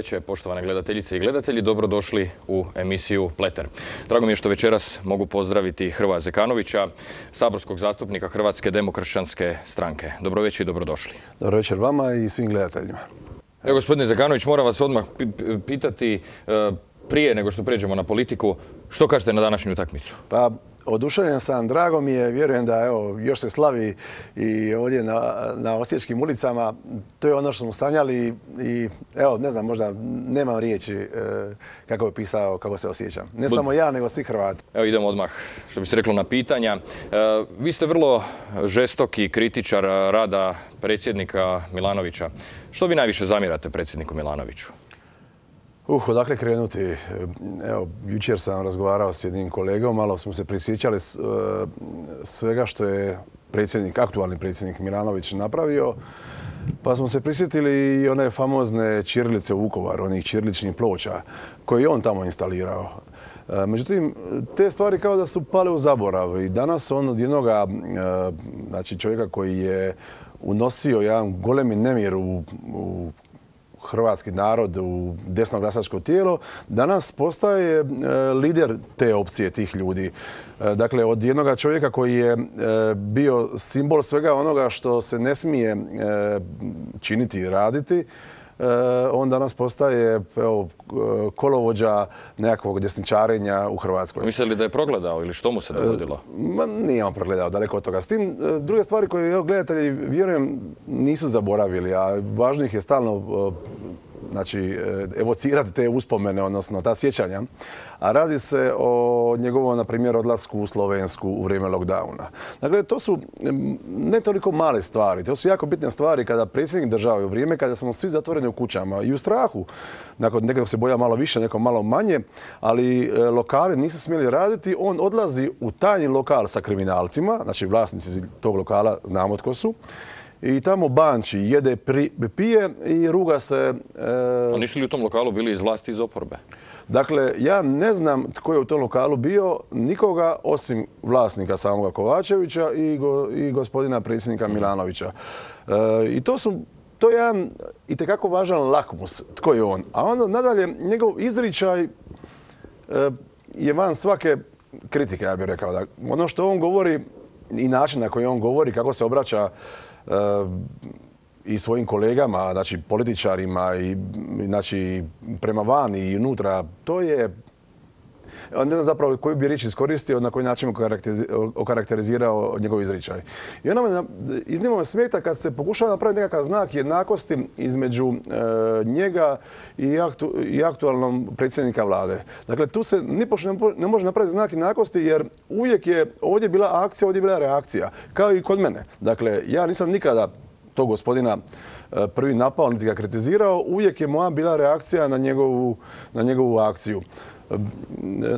večer, poštovane gledateljice i gledatelji. Dobrodošli u emisiju Pleter. Drago mi je što večeras mogu pozdraviti Hrvoja Zekanovića, saborskog zastupnika Hrvatske demokršćanske stranke. Dobro večer i dobrodošli. Dobro večer vama i svim gledateljima. Evo, gospodine Zekanović, moram vas odmah pitati, prije nego što pređemo na politiku, što kažete na današnju utakmicu? Pa, oduševljen sam, drago mi je, vjerujem da evo, još se slavi i ovdje na osječkim ulicama. To je ono što smo sanjali i evo, ne znam, možda nemam riječi kako bi pisao, kako se osjećam. Ne samo ja, nego svi Hrvati. Evo idemo odmah, što bi se reklo, na pitanja. Vi ste vrlo žestoki kritičar rada predsjednika Milanovića. Što vi najviše zamjerate predsjedniku Milanoviću? Odakle krenuti? Evo, jučer sam razgovarao s jednim kolegom, malo smo se prisjećali svega što je aktualni predsjednik Milanović napravio, pa smo se prisjetili i one famozne ćirilice u Vukovaru, onih ćiriličnih ploča koje je on tamo instalirao. Međutim, te stvari kao da su pale u zaborav i danas on od jednoga, znači čovjeka koji je unosio jedan golemi nemir u hrvatski narod, u desno glasačko tijelo, danas postaje lider te opcije, tih ljudi. Dakle, od jednoga čovjeka koji je bio simbol svega onoga što se ne smije činiti i raditi, on danas postaje kolovođa nekakvog desničarenja u Hrvatskoj. Mislite li da je progledao ili što mu se dogodilo? Nije on progledao, daleko od toga. S tim, druge stvari koje gledatelji, vjerujem, nisu zaboravili, a važno ih je stalno evocirati te uspomene, odnosno ta sjećanja. A radi se o njegovom, na primjer, odlasku u Slovensku u vrijeme lockdowna. Dakle, to su ne toliko male stvari, to su jako bitne stvari kada predsjednik države u vrijeme kada smo svi zatvoreni u kućama i u strahu. Nakon nekog se boja malo više, neko malo manje, ali lokali nisu smjeli raditi. On odlazi u tajni lokal sa kriminalcima, znači vlasnici tog lokala znamo tko su. I tamo banči, jede, pije i ruga se. A nisu li u tom lokalu bili iz vlasti, iz oporbe? Dakle, ja ne znam tko je u tom lokalu bio, nikoga osim vlasnika samoga Kovačevića i gospodina predsjednika Milanovića. I to je jedan itekako važan lakmus, tko je on. A onda nadalje, njegov izričaj je van svake kritike, ja bih rekao. Da ono što on govori i način na koji on govori, kako se obraća i svojim kolegama, znači političarima i znači prema vani i unutra, to je, ne znam zapravo koju bi riječ iskoristio, na koji način okarakterizirao njegov izričaj. I onda me iznimno smeta kad se pokušava napraviti nekakav znak jednakosti između njega i aktualnog predsjednika vlade. Dakle, tu se nipošto ne može napraviti znak jednakosti jer uvijek je ovdje bila akcija, ovdje je bila reakcija. Kao i kod mene. Dakle, ja nisam nikada tog gospodina prvi napao, niti ga kritizirao. Uvijek je moja bila reakcija na njegovu akciju.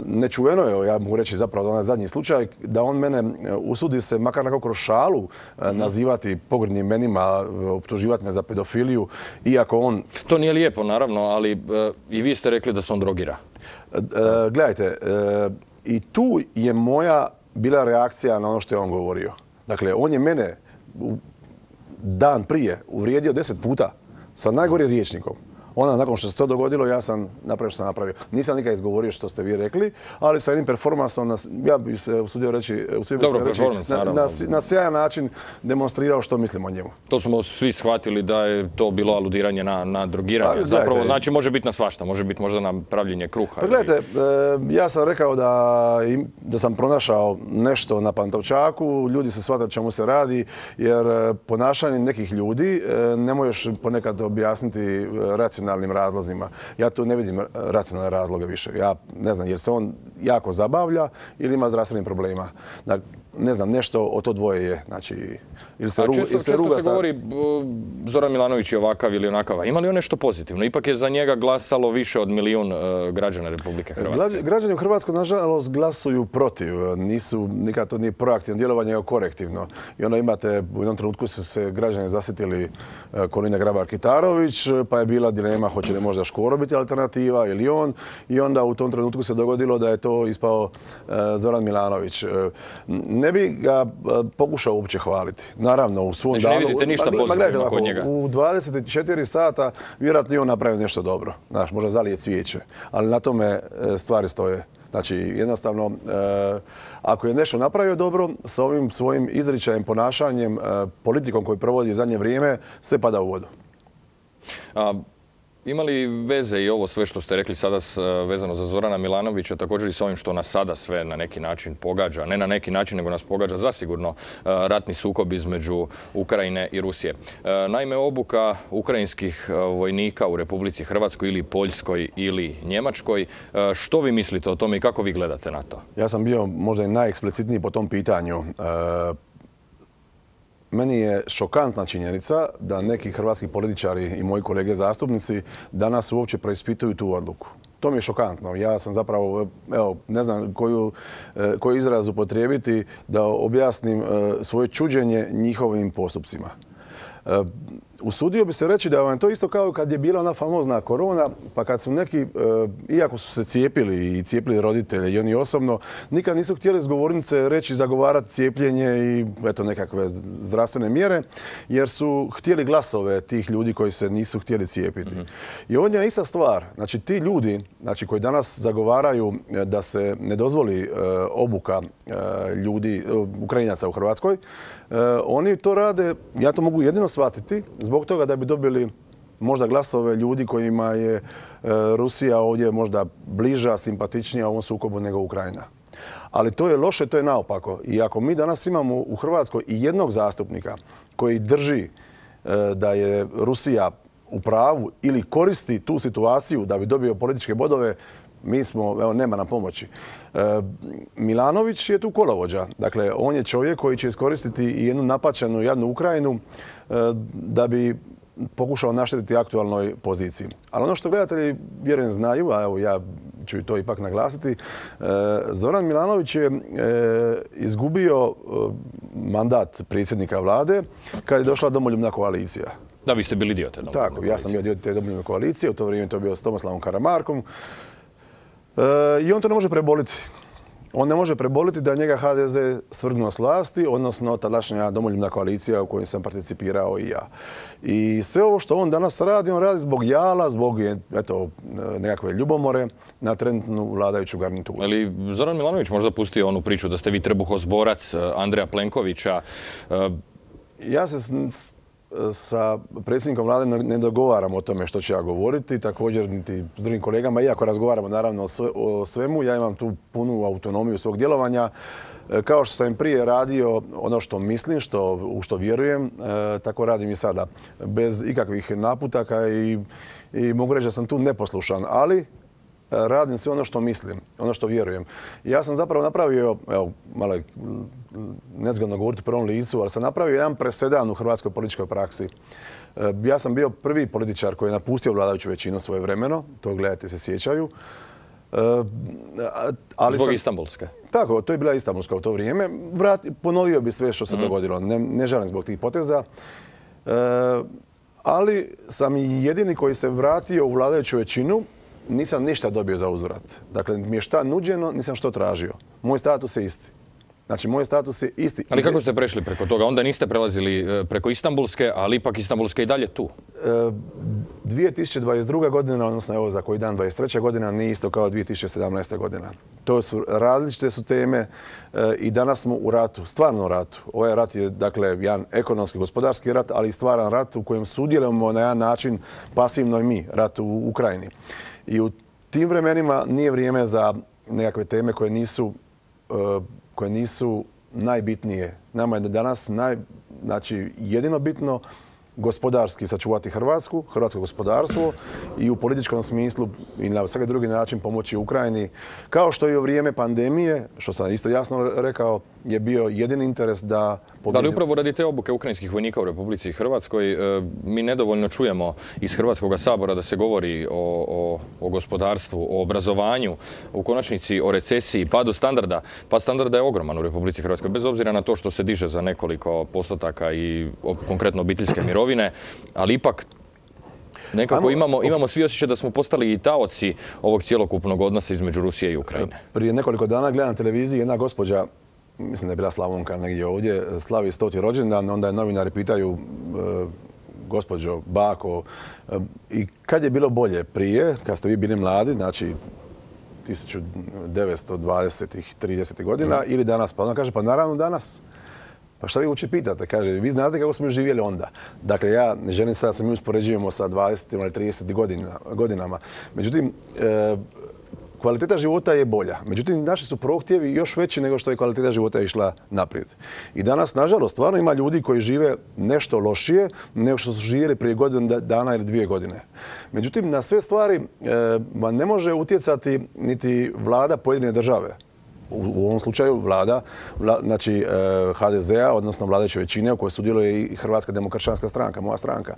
Nečuveno je, ja mogu reći zapravo onaj zadnji slučaj, da on mene usudi se makar nekako kroz šalu nazivati pogrdnim imenima, optuživati me za pedofiliju, iako on... To nije lijepo, naravno, ali i vi ste rekli da se on drogira. Gledajte, i tu je moja bila reakcija na ono što je on govorio. Dakle, on je mene dan prije uvrijedio 10 puta sa najgorim rječnikom. Onda, nakon što se to dogodilo, ja sam napravio što sam napravio. Nisam nikad izgovorio što ste vi rekli, ali sa jednim performansom, ja bih se usudio reći, na sjajan način demonstrirao što mislim o njemu. To smo svi shvatili da je to bilo aludiranje na drogiranje. Zapravo, znači, može biti na svašta, može biti možda na pravljenje kruha. Pa gledajte, ja sam rekao da sam pronašao nešto na Pantovčaku, ljudi su shvatili čemu se radi, jer ponašanje nekih ljudi ne možeš ponekad objasniti racionalnim razlozima. Ja tu ne vidim racionalne razloge više. Ja ne znam, jer se on jako zabavlja ili ima zdravstvenih problema. Ne znam, nešto o to dvoje je. Znači, često se govori Zoran Milanović je ovakav ili onakav. Ima li on nešto pozitivno? Ipak je za njega glasalo više od 1 milijun građana Republike Hrvatske. Građani u Hrvatskoj, nažalost, glasuju protiv. Nikad to nije proaktivno djelovanje, nego korektivno. I onda imate, u jednom trenutku su se građani zasjetili Kolinda Grabar-Kitarović, pa je bila dilema hoće li možda Škoro biti alternativa ili on. I onda u tom trenutku se dogodilo da je to ispao Zoran Milanović. ne bi ga pokušao uopće hvaliti. Naravno, u svom danu... Znači ne vidite ništa pozitivno kod njega? U 24 sata vjerojatno i on napravi nešto dobro. Znaš, možda zalije cvijeće, ali na tome stvari stoje. Znači, jednostavno, ako je nešto napravio dobro, sa ovim svojim izričajem, ponašanjem, politikom koju provodi zadnje vrijeme, sve pada u vodu. Ima li veze i ovo sve što ste rekli sada vezano za Zorana Milanovića, također i s ovim što nas sada sve na neki način pogađa, ne na neki način, nego nas pogađa zasigurno ratni sukob između Ukrajine i Rusije. Naime, obuka ukrajinskih vojnika u Republici Hrvatskoj ili Poljskoj ili Njemačkoj, što vi mislite o tome i kako vi gledate na to? Ja sam bio možda i najeksplicitniji po tom pitanju. Meni je šokantna činjenica da neki hrvatski političari i moji kolege zastupnici danas uopće preispituju tu odluku. To mi je šokantno. Ja sam zapravo, evo, ne znam koji izraz upotrijebiti da objasnim svoje čuđenje njihovim postupcima. Usudio bi se reći da vam je to isto kao kad je bila ona famozna korona, pa kad su neki, iako su se cijepili i cijepili roditelje i oni osobno, nikad nisu htjeli s govornice reći zagovarati cijepljenje i eto nekakve zdravstvene mjere, jer su htjeli glasove tih ljudi koji se nisu htjeli cijepiti. I ovdje je ista stvar. Znači ti ljudi, znači, koji danas zagovaraju da se ne dozvoli obuka ljudi, Ukrajinaca u Hrvatskoj, oni to rade, ja to mogu jedino shvatiti, zbog toga da bi dobili možda glasove ljudi kojima je Rusija ovdje možda bliža, simpatičnija u ovom sukobu nego Ukrajina. Ali to je loše, to je naopako. I ako mi danas imamo u Hrvatskoj i jednog zastupnika koji drži da je Rusija u pravu ili koristi tu situaciju da bi dobio političke bodove, mi smo, evo, nema nam pomoći. Milanović je tu kolovođa. Dakle, on je čovjek koji će iskoristiti i jednu napačenu jadnu Ukrajinu da bi pokušao naštetiti aktualnoj poziciji. Ali ono što gledatelji vjerujem znaju, a evo ja ću i to ipak naglasiti, Zoran Milanović je izgubio mandat predsjednika vlade kad je došla Domoljubna koalicija. Da, vi ste bili dio te Domoljubne koalicije. Tako, ja sam bio dio te Domoljubne koalicije, u to vrijeme to bio s Tomislavom Karamarkom. I on to ne može preboliti. On ne može preboliti da njega HDZ svrgnuo s vlasti, odnosno tadašnja Domoljubna koalicija u kojoj sam participirao i ja. I sve ovo što on danas radi, on radi zbog jala, zbog nekakve ljubomore na trenutnu vladajuću garnituru. Ali Zoran Milanović možda pustio onu priču da ste vi trbuhozborac Andreja Plenkovića? Ja se sa predsjednikom vlade ne dogovaram o tome što ću ja govoriti, također niti s drugim kolegama, iako razgovaramo naravno o svemu, ja imam tu punu autonomiju svog djelovanja. Kao što sam prije radio ono što mislim, u što vjerujem, tako radim i sada. Bez ikakvih naputaka i mogu reći da sam tu neposlušan, ali radim sve ono što mislim, ono što vjerujem. Ja sam zapravo napravio, evo, malo je nezgodno govoriti u prvom licu, ali sam napravio jedan presedan u hrvatskoj političkoj praksi. Ja sam bio prvi političar koji je napustio vladajuću većinu svojevremeno, to gledajte se sjećaju. Zbog Istanbulske? Tako, to je bila Istanbulska u to vrijeme. Ponovio bi sve što se dogodilo, ne žalim zbog tih poteza. Ali sam i jedini koji se vratio u vladajuću većinu, nisam ništa dobio za uzvrat. Dakle, mi je šta nuđeno, nisam što tražio. Moj status je isti. Znači, moj status je isti. Ali kako ste prešli preko toga? Onda niste prelazili preko Istanbulske, ali ipak Istanbulska i dalje tu. 2022. godina, odnosno evo za koji dan 23. godina, nije isto kao 2017. godina. To su različite su teme i danas smo u ratu, stvarno ratu. Ovaj rat je, dakle, jedan ekonomski, gospodarski rat, ali i stvaran rat u kojem sudjelujemo na jedan način pasivno i mi, rat u Ukrajini. I u tim vremenima nije vrijeme za nekakve teme koje nisu najbitnije. Nama je danas jedino bitno gospodarski sačuvati hrvatsko gospodarstvo i u političkom smislu i na svaki drugi način pomoći Ukrajini. Kao što i u vrijeme pandemije, što sam isto jasno rekao, je bio jedini interes da... Da li upravo radi te obuke ukrajinskih vojnika u Republici Hrvatskoj mi nedovoljno čujemo iz Hrvatskog sabora da se govori o gospodarstvu, o obrazovanju, u konačnici o recesiji, padu standarda. Pad standarda je ogroman u Republici Hrvatskoj, bez obzira na to što se diže za nekoliko postotaka i konkretno obiteljske mirovine, ali ipak nekako imamo svi osjećaj da smo postali i taoci ovog cjelokupnog odnosa između Rusije i Ukrajine. Prije nekoliko dana gledam na televiziji jedna gospođa mislim da je bila Slavonka negdje ovdje, slavi 100. rođendan, onda je novinari pitaju gospođo, bako, i kad je bilo bolje? Prije, kad ste vi bili mladi, znači 1920-ih, 30. godina ili danas? Pa ona kaže, pa naravno danas. Pa šta vi uopće pitate? Kaže, vi znate kako smo živjeli onda. Dakle, ja ne želim sad da se mi uspoređujemo sa 20. ili 30. godinama. Međutim, kvaliteta života je bolja. Međutim, naši su prohtjevi još veći nego što je kvaliteta života išla naprijed. I danas, nažalost, stvarno ima ljudi koji žive nešto lošije nego što su živjeli prije godinu dana ili 2 godine. Međutim, na sve stvari ne može utjecati niti vlada pojedine države. U ovom slučaju vlada, znači HDZ-a, odnosno vladajuće većine u kojoj sudjeluje i Hrvatska demokršćanska stranka, moja stranka.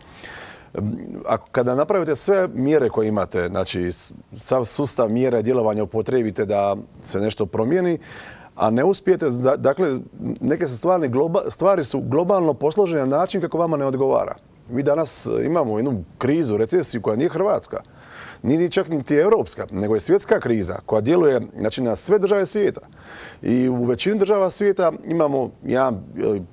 Kada napravite sve mjere koje imate, znači sav sustav mjera i djelovanja upotrijebite da se nešto promijeni, a ne uspijete, dakle, neke stvari su globalno posložene na način kako vama ne odgovara. Mi danas imamo jednu krizu, recesiju koja nije hrvatska. Nije čak niti europska, nego je svjetska kriza koja djeluje, znači, na sve države svijeta. I u većini država svijeta imamo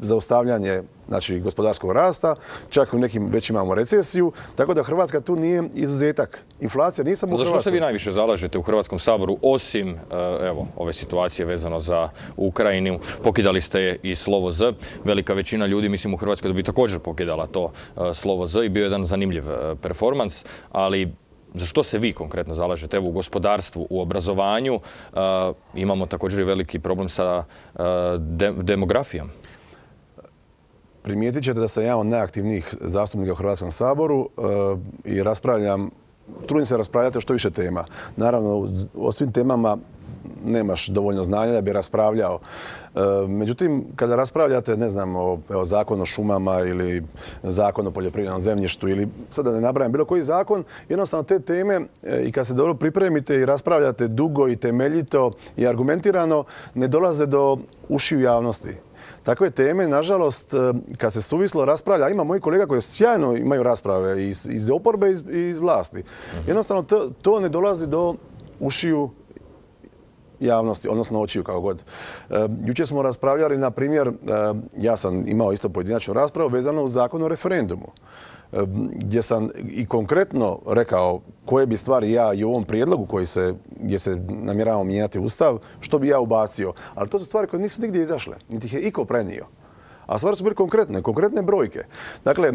zaustavljanje, znači, gospodarskog rasta, čak u nekim već imamo recesiju, tako da Hrvatska tu nije izuzetak. Inflacija nije samo u Hrvatskoj. Za što se vi najviše zalažete u Hrvatskom saboru, osim ove situacije vezano za Ukrajinu? Pokidali ste i slovo Z. Velika većina ljudi, mislim, u Hrvatskoj da bi također pokidala to slovo Z i bio jedan zanimljiv performans, ali za što se vi konkretno zalažete? Evo, u gospodarstvu, u obrazovanju imamo također i veliki problem sa demografijom. Primijetit ćete da sam jedan od najaktivnijih zastupnika u Hrvatskom saboru i trudim se raspravljati o što više tema. Naravno, o svim temama nemaš dovoljno znanja da bi raspravljao. Međutim, kada raspravljate, ne znam, o zakon o šumama ili zakon o poljoprivrednom zemljištu ili sad da ne nabrajam bilo koji zakon, jednostavno te teme i kad se dobro pripremite i raspravljate dugo i temeljito i argumentirano, ne dolaze do ušiju javnosti. Takve teme, nažalost, kad se suvislo raspravlja, ima mojih kolega koji sjajno imaju rasprave iz oporbe i iz vlasti. Jednostavno, to ne dolazi do ušiju javnosti, odnosno očiju, kako god. Jučer smo raspravljali, na primjer, ja sam imao isto pojedinačnu raspravu vezano uz zakon o referendumu, gdje sam i konkretno rekao koje bi stvari ja i u ovom prijedlogu gdje se namjeravamo mijenjati Ustav, što bi ja ubacio. Ali to su stvari koje nisu nigdje izašle, niti ih je iko prenio. A stvari su bile konkretne brojke. Dakle,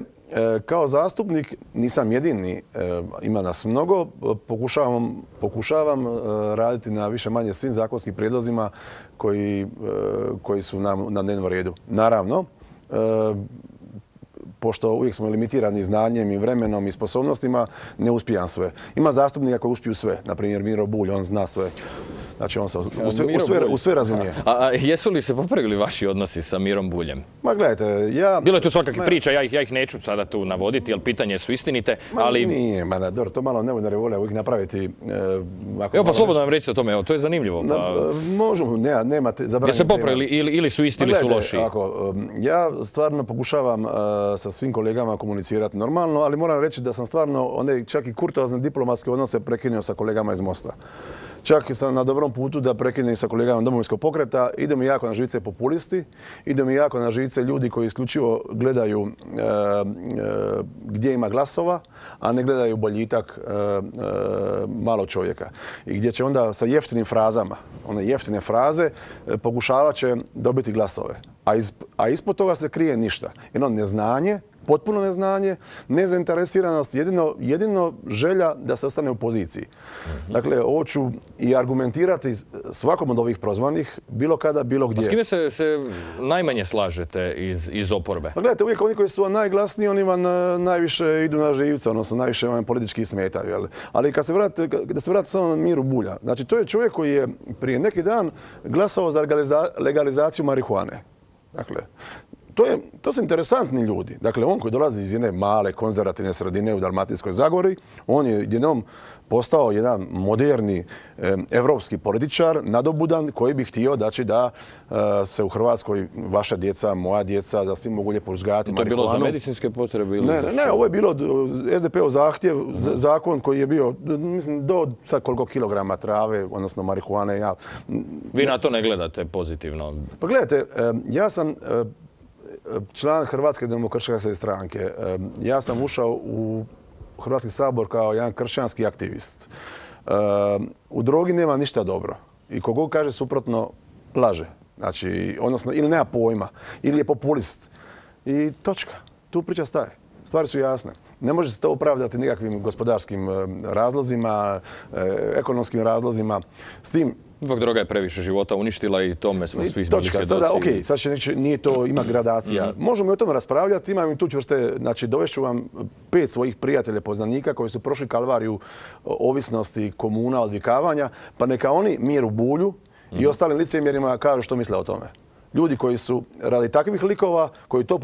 kao zastupnik nisam jedini, ima nas mnogo, pokušavam raditi na više manje svim zakonskim prijedlozima koji su nam na dnevnom redu. Naravno, pošto uvijek smo limitirani znanjem i vremenom i sposobnostima, ne uspijam sve. Ima zastupnika koji uspiju sve, na primjer Miro Bulj, on zna sve. Znači, on se u sve razumije. A jesu li se popravili vaši odnosi sa Mirom Buljem? Ma gledajte, bilo je tu svakakvih priča, ja ih neću sada tu navoditi, jer pitanje su istinite, ali... Nije, dobro, to malo novinari vole uvijek napraviti... Evo, pa slobodno nam recite o tome, to je zanimljivo. Možemo, nemate... Gdje se popravili, ili su isti ili su loši? Ja stvarno pokušavam sa svim kolegama komunicirati normalno, ali moram reći da sam stvarno one čak i kurtoazne diplomatske odnose prekinuo sa kolegama iz Mosta. Čak sam na dobrom putu da prekinem sa kolegama Domovinskog pokreta. Ide mi jako na živce populisti, ide mi jako na živce ljudi koji isključivo gledaju gdje ima glasova, a ne gledaju boljitak malo čovjeka. I gdje će onda sa jeftinim frazama, one jeftine fraze, pokušavat će dobiti glasove. A ispod toga se krije ništa. Jedno neznanje, potpuno neznanje, nezainteresiranost, jedino želja da se ostane u poziciji. Dakle, ovo ću i argumentirati svakom od ovih prozvanih, bilo kada, bilo gdje. A s kime se najmanje slažete iz oporbe? Pa gledajte, uvijek oni koji su najglasniji, oni vam najviše idu na živce, odnosno najviše vam politički smetaju. Jel? Ali da se vrati samo na Miru Bulja. Znači, to je čovjek koji je prije neki dan glasao za legalizaciju marihuane. Dakle, to su interesantni ljudi. Dakle, on koji dolazi iz jedne male konzervativne sredine u Dalmatinskoj Zagori, on je jednom postao jedan moderni evropski političar, nadobudan, koji bi htio da se u Hrvatskoj vaša djeca, moja djeca, da svi mogu lijepo uzgajati marihuanu. To je bilo za medicinske potrebe? Ne, ovo je bilo SDP-ov zahtjev, zakon koji je bio, mislim, do sad koliko kilograma trave, odnosno marihuane. Vi na to ne gledate pozitivno? Pa gledajte, ja sam član Hrvatske demokršćanske stranke. Ja sam ušao u Hrvatski sabor kao jedan kršćanski aktivist. U drogi nema ništa dobro. I kogo kaže suprotno, laže. Znači, odnosno, ili nema pojma, ili je populist. I točka. Tu priča staje. Stvari su jasne. Ne može se to opravdati nikakvim gospodarskim razlozima, ekonomskim razlozima. S tim, ipak droga je previše života uništila i tome smo svi bili svjedoci. Sada, okej, sad će nije to, ima gradacija. Možemo i o tome raspravljati, imam i tu čvrste, znači dovešću vam 5 svojih prijatelja, poznanika koji su prošli kalvariju ovisnosti, komuna, odvikavanja, pa neka oni Miru Bulju i ostalim licemjerima kažu što misle o tome. Ljudi koji su radi takvih likova, koji to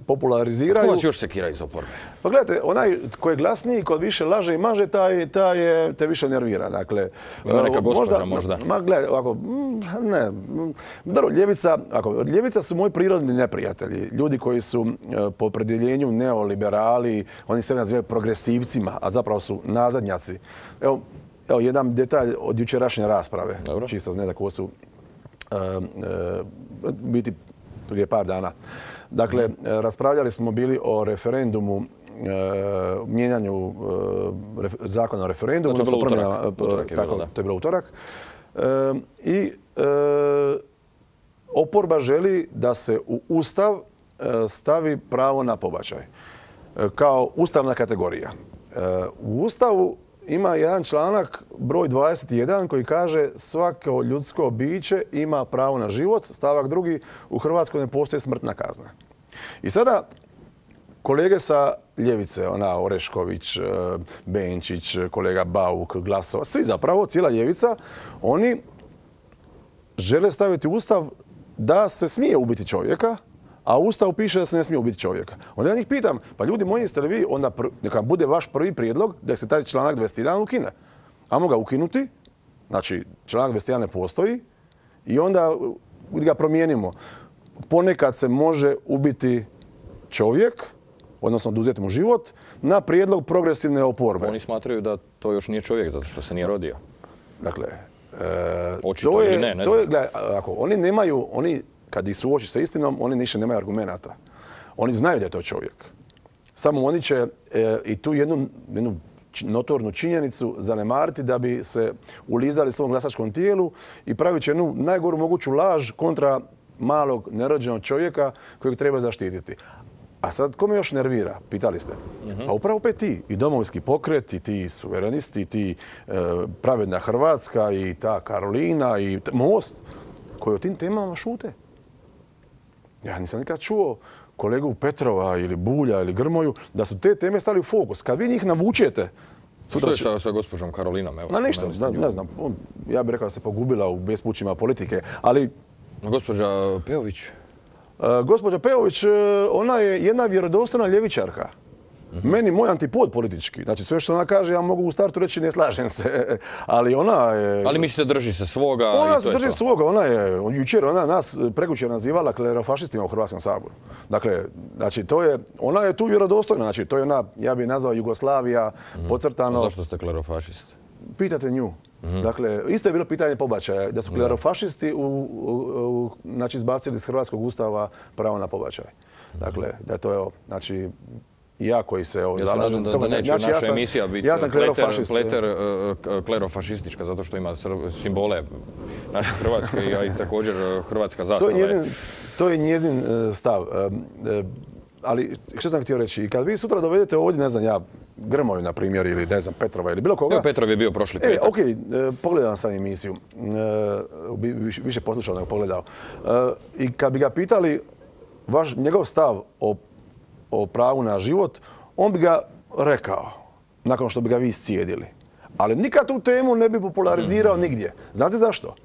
populariziraju... Ko vas još sekira iz oporbe? Pa gledajte, onaj koji je glasniji, koji više laže i maže, te više nervira. Dakle, ima neka gospođa možda? Ma gledaj, ovako, ne. Dobro, ljevica su moji prirodni neprijatelji. Ljudi koji su po opredjeljenju neoliberali, oni se nazivaju progresivcima, a zapravo su nazadnjaci. Evo jedan detalj od jučerašnje rasprave. Dobro. Čisto ne da ko su biti prije par dana. Dakle, raspravljali smo bili o referendumu, mijenjanju zakona o referendumu. To je bilo utorak. To je bilo utorak. I oporba želi da se u Ustav stavi pravo na pobačaj kao ustavna kategorija. U Ustavu ima jedan članak, broj 21, koji kaže svako ljudsko biće ima pravo na život. Stavak 2. U Hrvatskoj ne postoji smrtna kazna. I sada kolege sa ljevice, Orešković, Benčić, kolega Bauk, Glasova, svi zapravo, cijela ljevica, oni žele staviti u Ustav da se smije ubiti čovjeka, a u Ustavu piše da se ne smije ubiti čovjeka. Onda ja njih pitam, pa ljudi moji, jeste li vi, onda neka bude vaš prvi prijedlog da se taj članak 21 ukine. Ajmo ga ukinuti, znači članak 21 ne postoji i onda ga promijenimo. Ponekad se može ubiti čovjek, odnosno oduzeti mu život, na prijedlog progresivne oporbe. Oni smatraju da to još nije čovjek zato što se nije rodio. Dakle, očito ili ne znam. Gledaj, oni nemaju, kad ih suoči sa istinom, oni više nemaju argumenata. Oni znaju da je to čovjek. Samo oni će i tu jednu notornu činjenicu zanemariti da bi se ulizali svom glasačkom tijelu i pravit će jednu najgoru moguću laž kontra malog nerođenog čovjeka kojeg treba zaštititi. A sad, ko me još nervira? Pitali ste. Pa upravo opet ti. I Domovinski pokret, i ti suverenisti, i ti Pravedna Hrvatska, i ta Karolina, i Most, koji o tim temama šute. Ja nisam nikad čuo kolegu Petrova ili Bulja ili Grmoju da su te teme stali u fokus. Kad vi njih navučete... Što je sa gospođom Karolinom? Ništa, ne znam. Ja bih rekao da se pogubila u bespućima politike, ali... Gospođa Peović? Gospođa Peović, ona je jedna vjerodostojna ljevičarka. Meni moj antipod politički. Znači sve što ona kaže, ja mogu u startu reći ne slažem se. Ali ona je... Ali mislite drži se svoga i to je to? Ona se drži svoga. Ona je jučer, ona nas prekućer nazivala klerofašistima u Hrvatskom saboru. Dakle, znači ona je tu vjerodostojna. Znači to je ona, ja bih nazvao Jugoslavija, podcrtano... Zašto ste klerofašist? Pitate nju. Dakle, isto je bilo pitanje pobačaja, da su klerofašisti znači, izbacili iz Hrvatskog ustava pravo na pobačaj. Dakle, da je to, znači, ja koji se zalažem... Da neće naša emisija biti klerofašistička, zato što ima simbole naše Hrvatske i također hrvatska zastava. To je njezin stav. Ali što sam htio reći, kad vi sutra dovedete ovdje, ne znam ja, Grmoju, na primjer, ili ne znam, Petrova ili bilo koga... Petrov je bio prošli petak. Okej, pogledam sam emisiju. Više poslušao nego pogledao. I kad bi ga pitali njegov stav o pravu na život, on bi ga rekao, nakon što bi ga vi iscijedili. Ali nikad tu temu ne bi popularizirao nigdje. Znate zašto?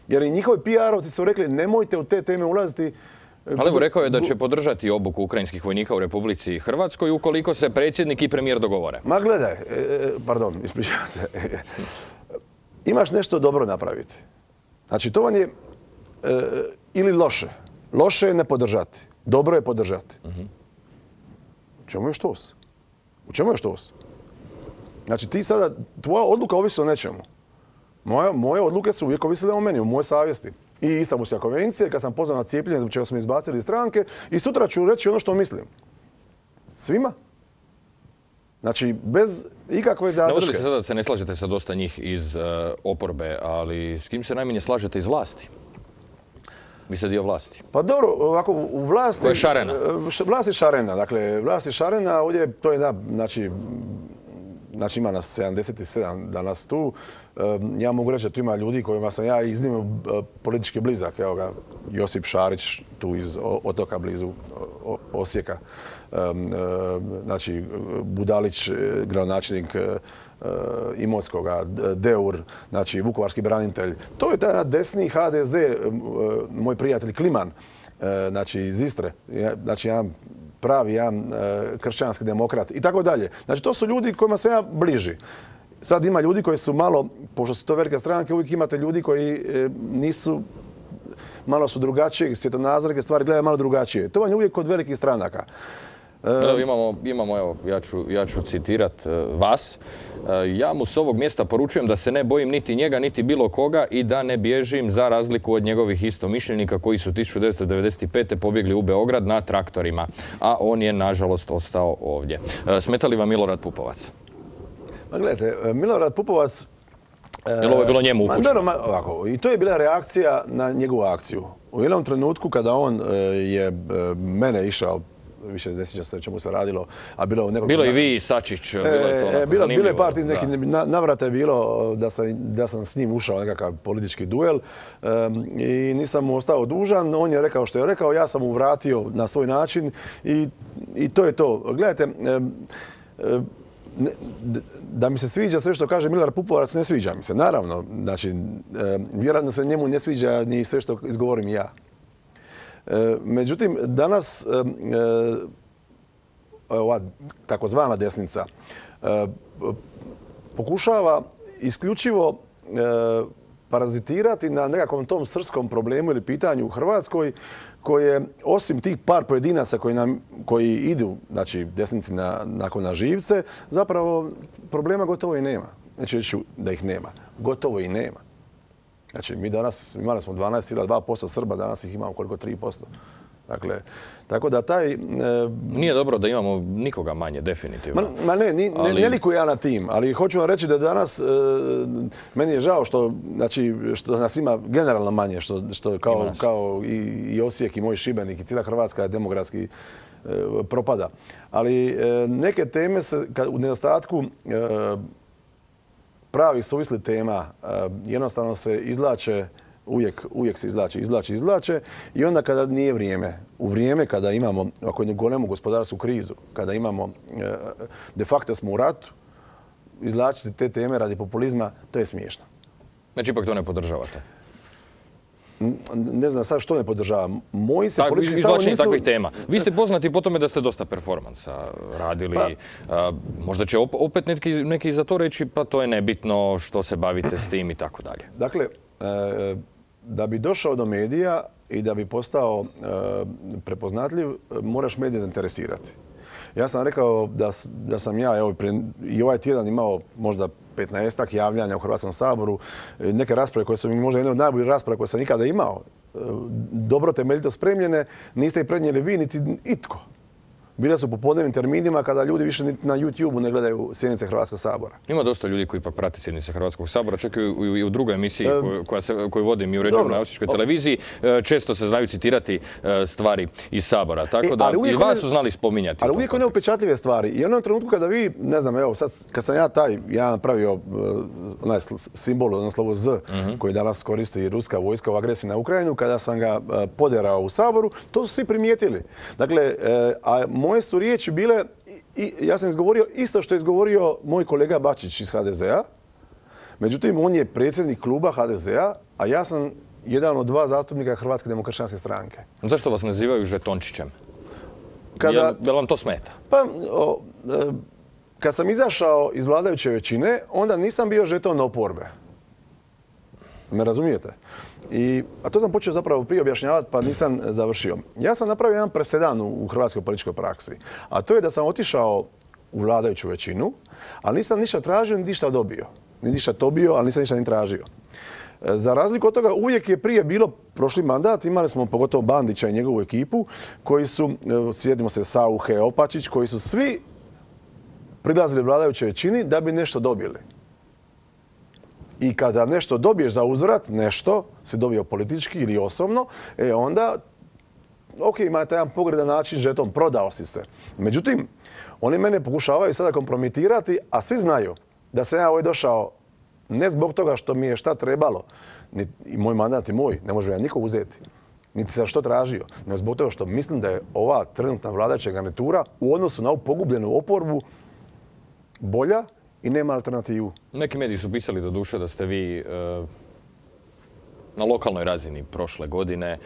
Jer i njihovi PR-ovci su rekli nemojte u te teme ulaziti Ali evo, rekao je da će podržati obuku ukrajinskih vojnika u Republici Hrvatskoj ukoliko se predsjednik i premijer dogovore. Ma gledaj, pardon, ispričavam se. Imaš nešto dobro napraviti. Znači, to vam je ili loše. Loše je ne podržati. Dobro je podržati. U čemu je štos? U čemu je štos? Znači, ti sada, tvoja odluka ovisi o nečemu. Moje odluke su uvijek ovisile o meni, o mojoj savjesti. I Istanbulska konvencija, kad sam pozvan na cijepljenje, zbog čega su me izbacili iz stranke, i sutra ću reći ono što mislim. Svima. Znači, bez ikakve zadrške. Navodili se sada da se ne slažete sa dosta njih iz oporbe, ali s kim se najmanje slažete iz vlasti? Vi ste dio vlasti. Pa dobro, ovako, u vlasti... Koja je šarena? Vlast je šarena, dakle, vlast je šarena, ovdje to je da, znači ima nas 77 danas tu. Ja mogu reći da tu ima ljudi kojima sam ja iznimno politički blizak. Evo ga, Josip Šarić tu iz Otoka blizu Osijeka. Znači, Budalić, gradonačelnik Imotskoga, Deur, znači vukovarski branitelj. To je taj desni HDZ, moj prijatelj Kliman, znači iz Istre. Znači, jedan kršćanski demokrat i tako dalje. Znači, to su ljudi kojima se ja bliži. Sad ima ljudi koji su malo, pošto su to velike stranke, uvijek imate ljudi koji nisu, malo su drugačije, svjetonazorske stvari gledaju malo drugačije. To vam je uvijek kod velikih stranaka. Imamo, evo, ja ću citirat vas. Ja mu s ovog mjesta poručujem da se ne bojim niti njega, niti bilo koga i da ne bježim za razliku od njegovih istomišljenika koji su 1995. pobjegli u Beograd na traktorima, a on je, nažalost, ostao ovdje. Smeta li vam Milorad Pupovac? Ma gledajte, Milorad Pupovac... Jel ovo je bilo njemu upućeno? Ovako, i to je bila reakcija na njegovu akciju. U jednom trenutku kada on je mene išao, više ne sjećam se čemu se radilo, a bilo u nekoliko... Bilo i vi, Sačić, bilo je to onako zanimljivo. Bilo je par nekih navrata je bilo da sam s njim ušao nekakav politički duel i nisam mu ostao dužan. On je rekao što je rekao, ja sam mu vratio na svoj način i to je to. Gledajte, da mi se sviđa sve što kaže Milorad Pupovac, ne sviđa mi se. Naravno, znači, vjerojatno se njemu ne sviđa ni sve što izgovorim ja. Međutim, danas ova takozvana desnica pokušava isključivo parazitirati na nekakvom tom srpskom problemu ili pitanju u Hrvatskoj, koje osim tih par pojedinaca koji idu, znači desnici na živce, zapravo problema gotovo i nema. Neću reći da ih nema. Gotovo i nema. Znači, mi danas imali smo 12,2% Srba, danas ih imamo koliko 3%. Dakle, tako da taj... Nije dobro da imamo nikoga manje, definitivno. Ma ne likujem ja na tim, ali hoću vam reći da danas, meni je žao što nas ima generalno manje, što kao i Osijek i moj Šibenik i cijela Hrvatska demografski propada. Ali neke teme se u nedostatku pravih suvislih tema jednostavno se izvlače, uvijek se izvlače i onda kada nije vrijeme, u vrijeme kada imamo, ako ne golemu gospodarsku krizu, kada imamo, de facto smo u ratu, izvlačiti te teme radi populizma, to je smiješno. Znači, ipak to ne podržavate? Ne znam sad što ne podržavam. Moji se politički stavovi izvlačenje nisu... takvih tema. Vi ste poznati po tome da ste dosta performansa radili. Možda će opet neki za to reći, pa to je nebitno što se bavite s tim i tako dalje. Dakle, da bi došao do medija i da bi postao prepoznatljiv, moraš medije zainteresirati. Ja sam rekao da sam ja i ovaj tjedan imao možda 15-ak javljanja u Hrvatskom saboru, neke rasprave koje su mi možda jedne od najboljih rasprava koje sam ikada imao, dobro temeljito spremljene, niste ih prenijeli vi niti itko. Bile su po podnevnim terminima kada ljudi više na YouTube-u ne gledaju sjednice Hrvatskog sabora. Ima dosta ljudi koji ipak prate sjednice Hrvatskog sabora, čak i u drugoj emisiji koju vodim i uređujem na Osječkoj televiziji. Često se znaju citirati stvari iz sabora, tako da i vas su znali spominjati. Ali uvijek one upečatljive stvari. I u jednom trenutku kada vi, ne znam, evo sad kad sam ja napravio onaj simbol, ono slovo Z, koji danas koristi ruska vojska u agresiji na Ukrajinu, kada sam ga poderao u saboru, to su svi primijetili. Dakle, a moje su riječi bile, ja sam izgovorio isto što je izgovorio moj kolega Bačić iz HDZ-a. Međutim, on je predsjednik kluba HDZ-a, a ja sam jedan od 2 zastupnika Hrvatske demokršćanske stranke. Zašto vas nazivaju žetončićem? Jel vam to smeta? Pa, kad sam izašao iz vladajuće većine, onda nisam bio žeton oporbe. Me razumijete? A to sam počeo zapravo prije objašnjavati, pa nisam završio. Ja sam napravio jedan presedan u hrvatskoj političkoj praksi. A to je da sam otišao u vladajuću većinu, ali nisam ništa tražio, ni ništa dobio. Ni ništa dobio, ali nisam ništa ni tražio. Za razliku od toga, uvijek je prije bilo prošli mandat, imali smo pogotovo Bandića i njegovu ekipu, koji su, sjetimo se Sauche, Opačić, koji su svi prilazili vladajućoj većini da bi nešto dobili. I kada nešto dobiješ za uzvrat, nešto si dobio politički ili osobno, onda, ok, imate jedan pogredan način, žeton, prodao si se. Međutim, oni mene pokušavaju sada kompromitirati, a svi znaju da sam ja ovdje došao ne zbog toga što mi je šta trebalo, i moj mandat je moj, ne može ja niko uzeti, niti sam što tražio, nego zbog toga što mislim da je ova trenutna vladajuća garnitura u odnosu na ovu pogubljenu oporbu bolja i nema alternativu. Neki mediji su pisali do duše da ste vi na lokalnoj razini prošle godine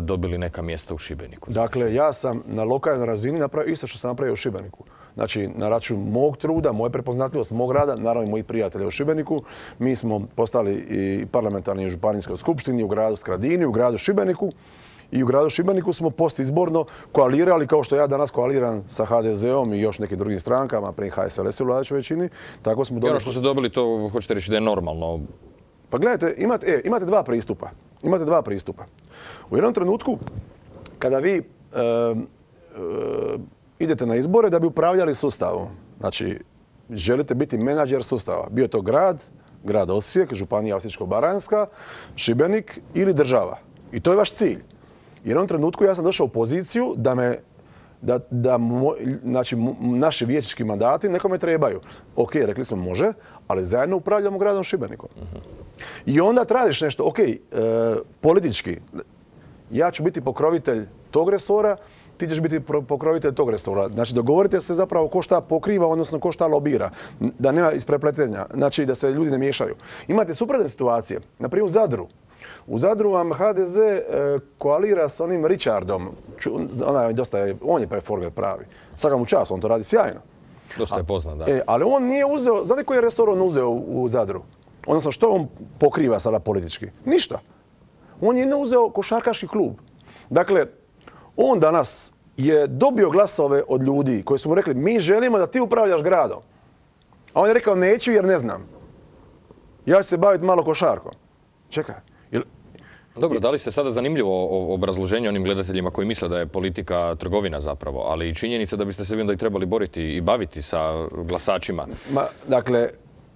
dobili neka mjesta u Šibeniku. Dakle, ja sam na lokalnoj razini napravio isto što sam napravio u Šibeniku. Znači, na račun mog truda, moje prepoznatljivost, mog rada, naravno i mojih prijatelja u Šibeniku. Mi smo postali i parlamentarni i županijskoj skupštini u gradu Skradini, u gradu Šibeniku. I u gradu Šibeniku smo postizborno koalirali, kao što ja danas koaliram sa HDZ-om i još nekim drugim strankama, prije HSLS u vladajućoj većini. Tako smo I ono što ste dobili, to hoćete reći da je normalno? Pa gledajte, imate 2 pristupa. Imate 2 pristupa. U jednom trenutku, kada vi idete na izbore da bi upravljali sustavom, znači želite biti menadžer sustava, bio to grad Osijek, županija Osječko-baranjska, Šibenik ili država. I to je vaš cilj. U jednom trenutku ja sam došao u poziciju da naši vijećnički mandati nekome trebaju. Ok, rekli smo može, ali zajedno upravljamo gradom Šibenikom. I onda tražiš nešto, ok, politički, ja ću biti pokrovitelj tog resora, ti ćeš biti pokrovitelj tog resora. Znači, dogovorite se zapravo ko šta pokriva, odnosno ko šta lobira. Da nema isprepletenja, znači da se ljudi ne miješaju. Imate suprotne situacije. Naprimjer u Zadru. U Zadru vam HDZ koalira s onim Richardom. On je performer pravi. Svaka mu čast, on to radi sjajno. Dosta je poznat, da. Ali on nije uzeo, znate koji je resor on uzeo u Zadru? Odnosno, što on pokriva sada politički? Ništa. On je uzeo košarkaški klub. Dakle, on danas je dobio glasove od ljudi koji su mu rekli mi želimo da ti upravljaš gradom. A on je rekao neću jer ne znam. Ja ću se baviti malo košarkom. Čekaj. Dobro, dali ste sada zanimljivo obrazloženje onim gledateljima koji misle da je politika trgovina zapravo, ali i činjenica da biste se vi onda i trebali boriti i baviti sa glasačima. Dakle,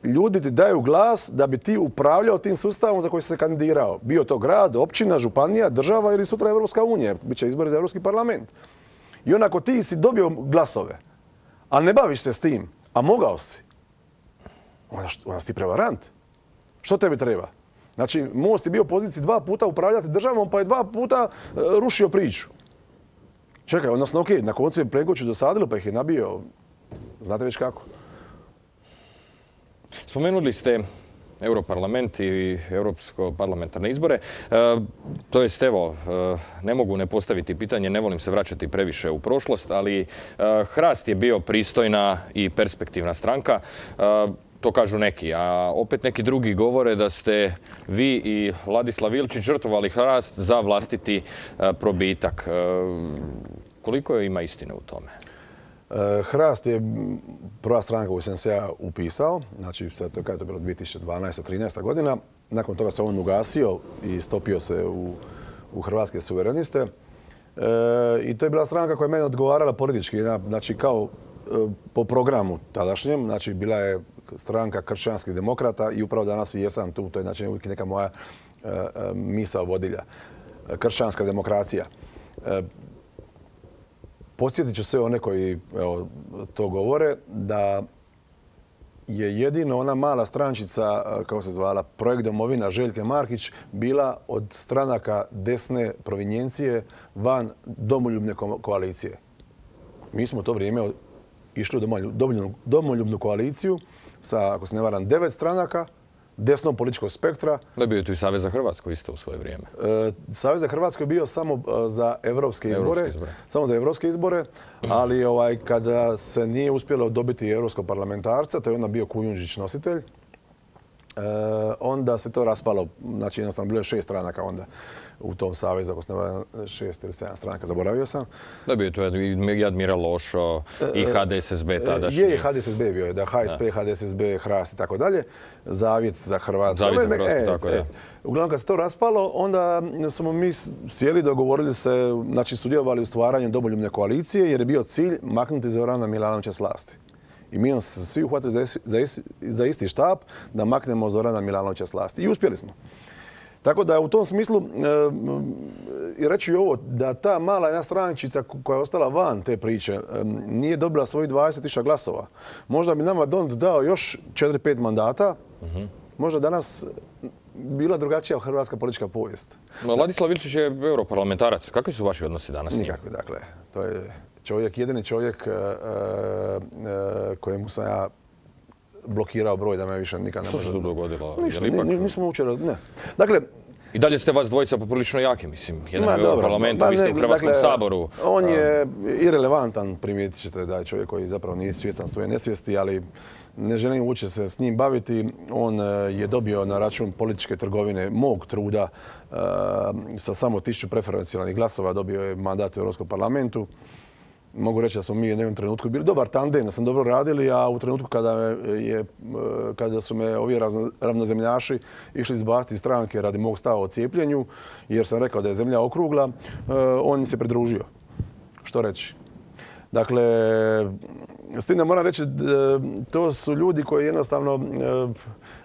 ljudi ti daju glas da bi ti upravljao tim sustavom za koji si se kandidirao. Bio to grad, općina, županija, država ili sutra Evropska unija. Biće izbori za Europski parlament. I onako ti si dobio glasove, a ne baviš se s tim, a mogao si, onda si ti prevarant. Što tebi treba? Znači, Most je bio u poziciji 2 puta upravljati državom, pa je 2 puta rušio priču. Čekaj, odnosno, ok, na koncu je Plenkoviću dosadilo, pa ih je nabio, znate već kako. Spomenuli ste Europarlament i Europsko parlamentarne izbore. To jest, evo, ne mogu ne postaviti pitanje, ne volim se vraćati previše u prošlost, ali Hrast je bio pristojna i perspektivna stranka. To kažu neki, a opet neki drugi govore da ste vi i Ladislav Ilčić žrtvovali Hrast za vlastiti probitak. Koliko ima istine u tome? Hrast je prva stranka koju sam se ja upisao, znači kada je to bilo 2012-13 godina. Nakon toga se on ugasio i stopio se u Hrvatske suvereniste. I to je bila stranka koja je mene odgovarala politički, znači kao po programu tadašnjem, znači bila je stranka kršćanskih demokrata i upravo danas i jesam tu, to je znači uvijek neka moja misao vodilja. Kršćanska demokracija. Podsjetit ću sve one koji to govore da je jedino ona mala strančica, kako se zvala, Projekt Domovina Željke Markić, bila od stranaka desne provinjencije van domoljubne koalicije. Mi smo u to vrijeme išli u domoljubnu koaliciju sa, ako se ne varam, 9 stranaka desnog političkog spektra. Da je bio tu i Savez za Hrvatsku isto u svoje vrijeme. Savez za Hrvatsku je bio samo za evropske izbore. Samo za evropske izbore, ali kada se nije uspjelo dobiti evropskog parlamentarca, to je onda bio Kujundžić nositelj, onda se to raspalo. Znači jednostavno bilo je 6 stranaka onda u tom savezu, ako se ne varam 6 ili 7 stranaka, zaboravio sam. Da bio tu i Admiral Lošo i HDSSB tadašnji. Je, HDSSB bio je, da, HSP, HDSSB, HRAST i tako dalje. Zavjet za Hrvatsku. Zavjet za Hrvatsku, tako je. Uglavnom kad se to raspalo, onda smo mi sjeli, dogovorili se, znači sudjelovali u stvaranju domoljubne koalicije jer je bio cilj maknuti Zorana Milanovića s vlasti. I mi smo se svi uhvatili za isti štap da maknemo Zorana Milanovića s vlasti. I uspjeli smo. Tako da u tom smislu i reći ovo, da ta mala jedna strančica koja je ostala van te priče nije dobila svojih 20.000 glasova. Možda bi nama Dont dao još 4-5 mandata, možda danas bila drugačija hrvatska politička povijest. Ladislav Ilčić je europarlamentarac. Kakvi su vaši odnosi danas s njim? Nikakvi, dakle. To je jedini čovjek kojemu sam ja blokirao broj da me više nikad ne može. Što se tu dogodilo? Ništa, nismo učili, ne. Dakle, i dalje ste vas dvojica poprilično jaki, mislim. Jedan je u parlamentu, vi ste u Hrvatskom saboru. On je irelevantan, primijetit ćete da je čovjek koji zapravo nije svjestan svoje nesvijesti, ali ne želim uopće se s njim baviti. On je dobio na račun političke trgovine mog truda sa samo 1000 preferencijalnih glasova, dobio je mandat u Europskom parlamentu. Mogu reći da smo mi u jednom trenutku bili dobar tandem, da smo dobro radili, a u trenutku kada su me ovi ravnozemljaši išli izbaciti iz stranke radi mog stava o cijepljenju, jer sam rekao da je zemlja okrugla, on mi se pridružio. Što reći? Dakle, s tim da moram reći, to su ljudi koji jednostavno,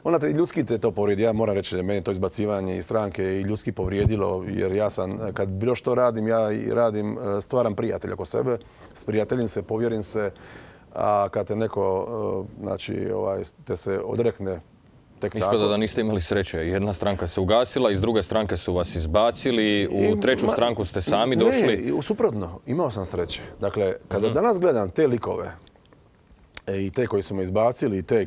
onda ljudski te to povrijedi. Ja moram reći da mene to izbacivanje iz stranke i ljudski povrijedilo, jer ja sam, kad bilo što radim, ja radim, stvaram prijatelja oko sebe, sprijateljim se, povjerim se, a kad te neko, znači, te se odrekne tek tako. Ispada da niste imali sreće. Jedna stranka se ugasila, iz druge stranke su vas izbacili, u treću stranku ste sami došli. Ne, suprotno, imao sam sreće. Dakle, kada danas gledam te likove, i te koji su me izbacili i te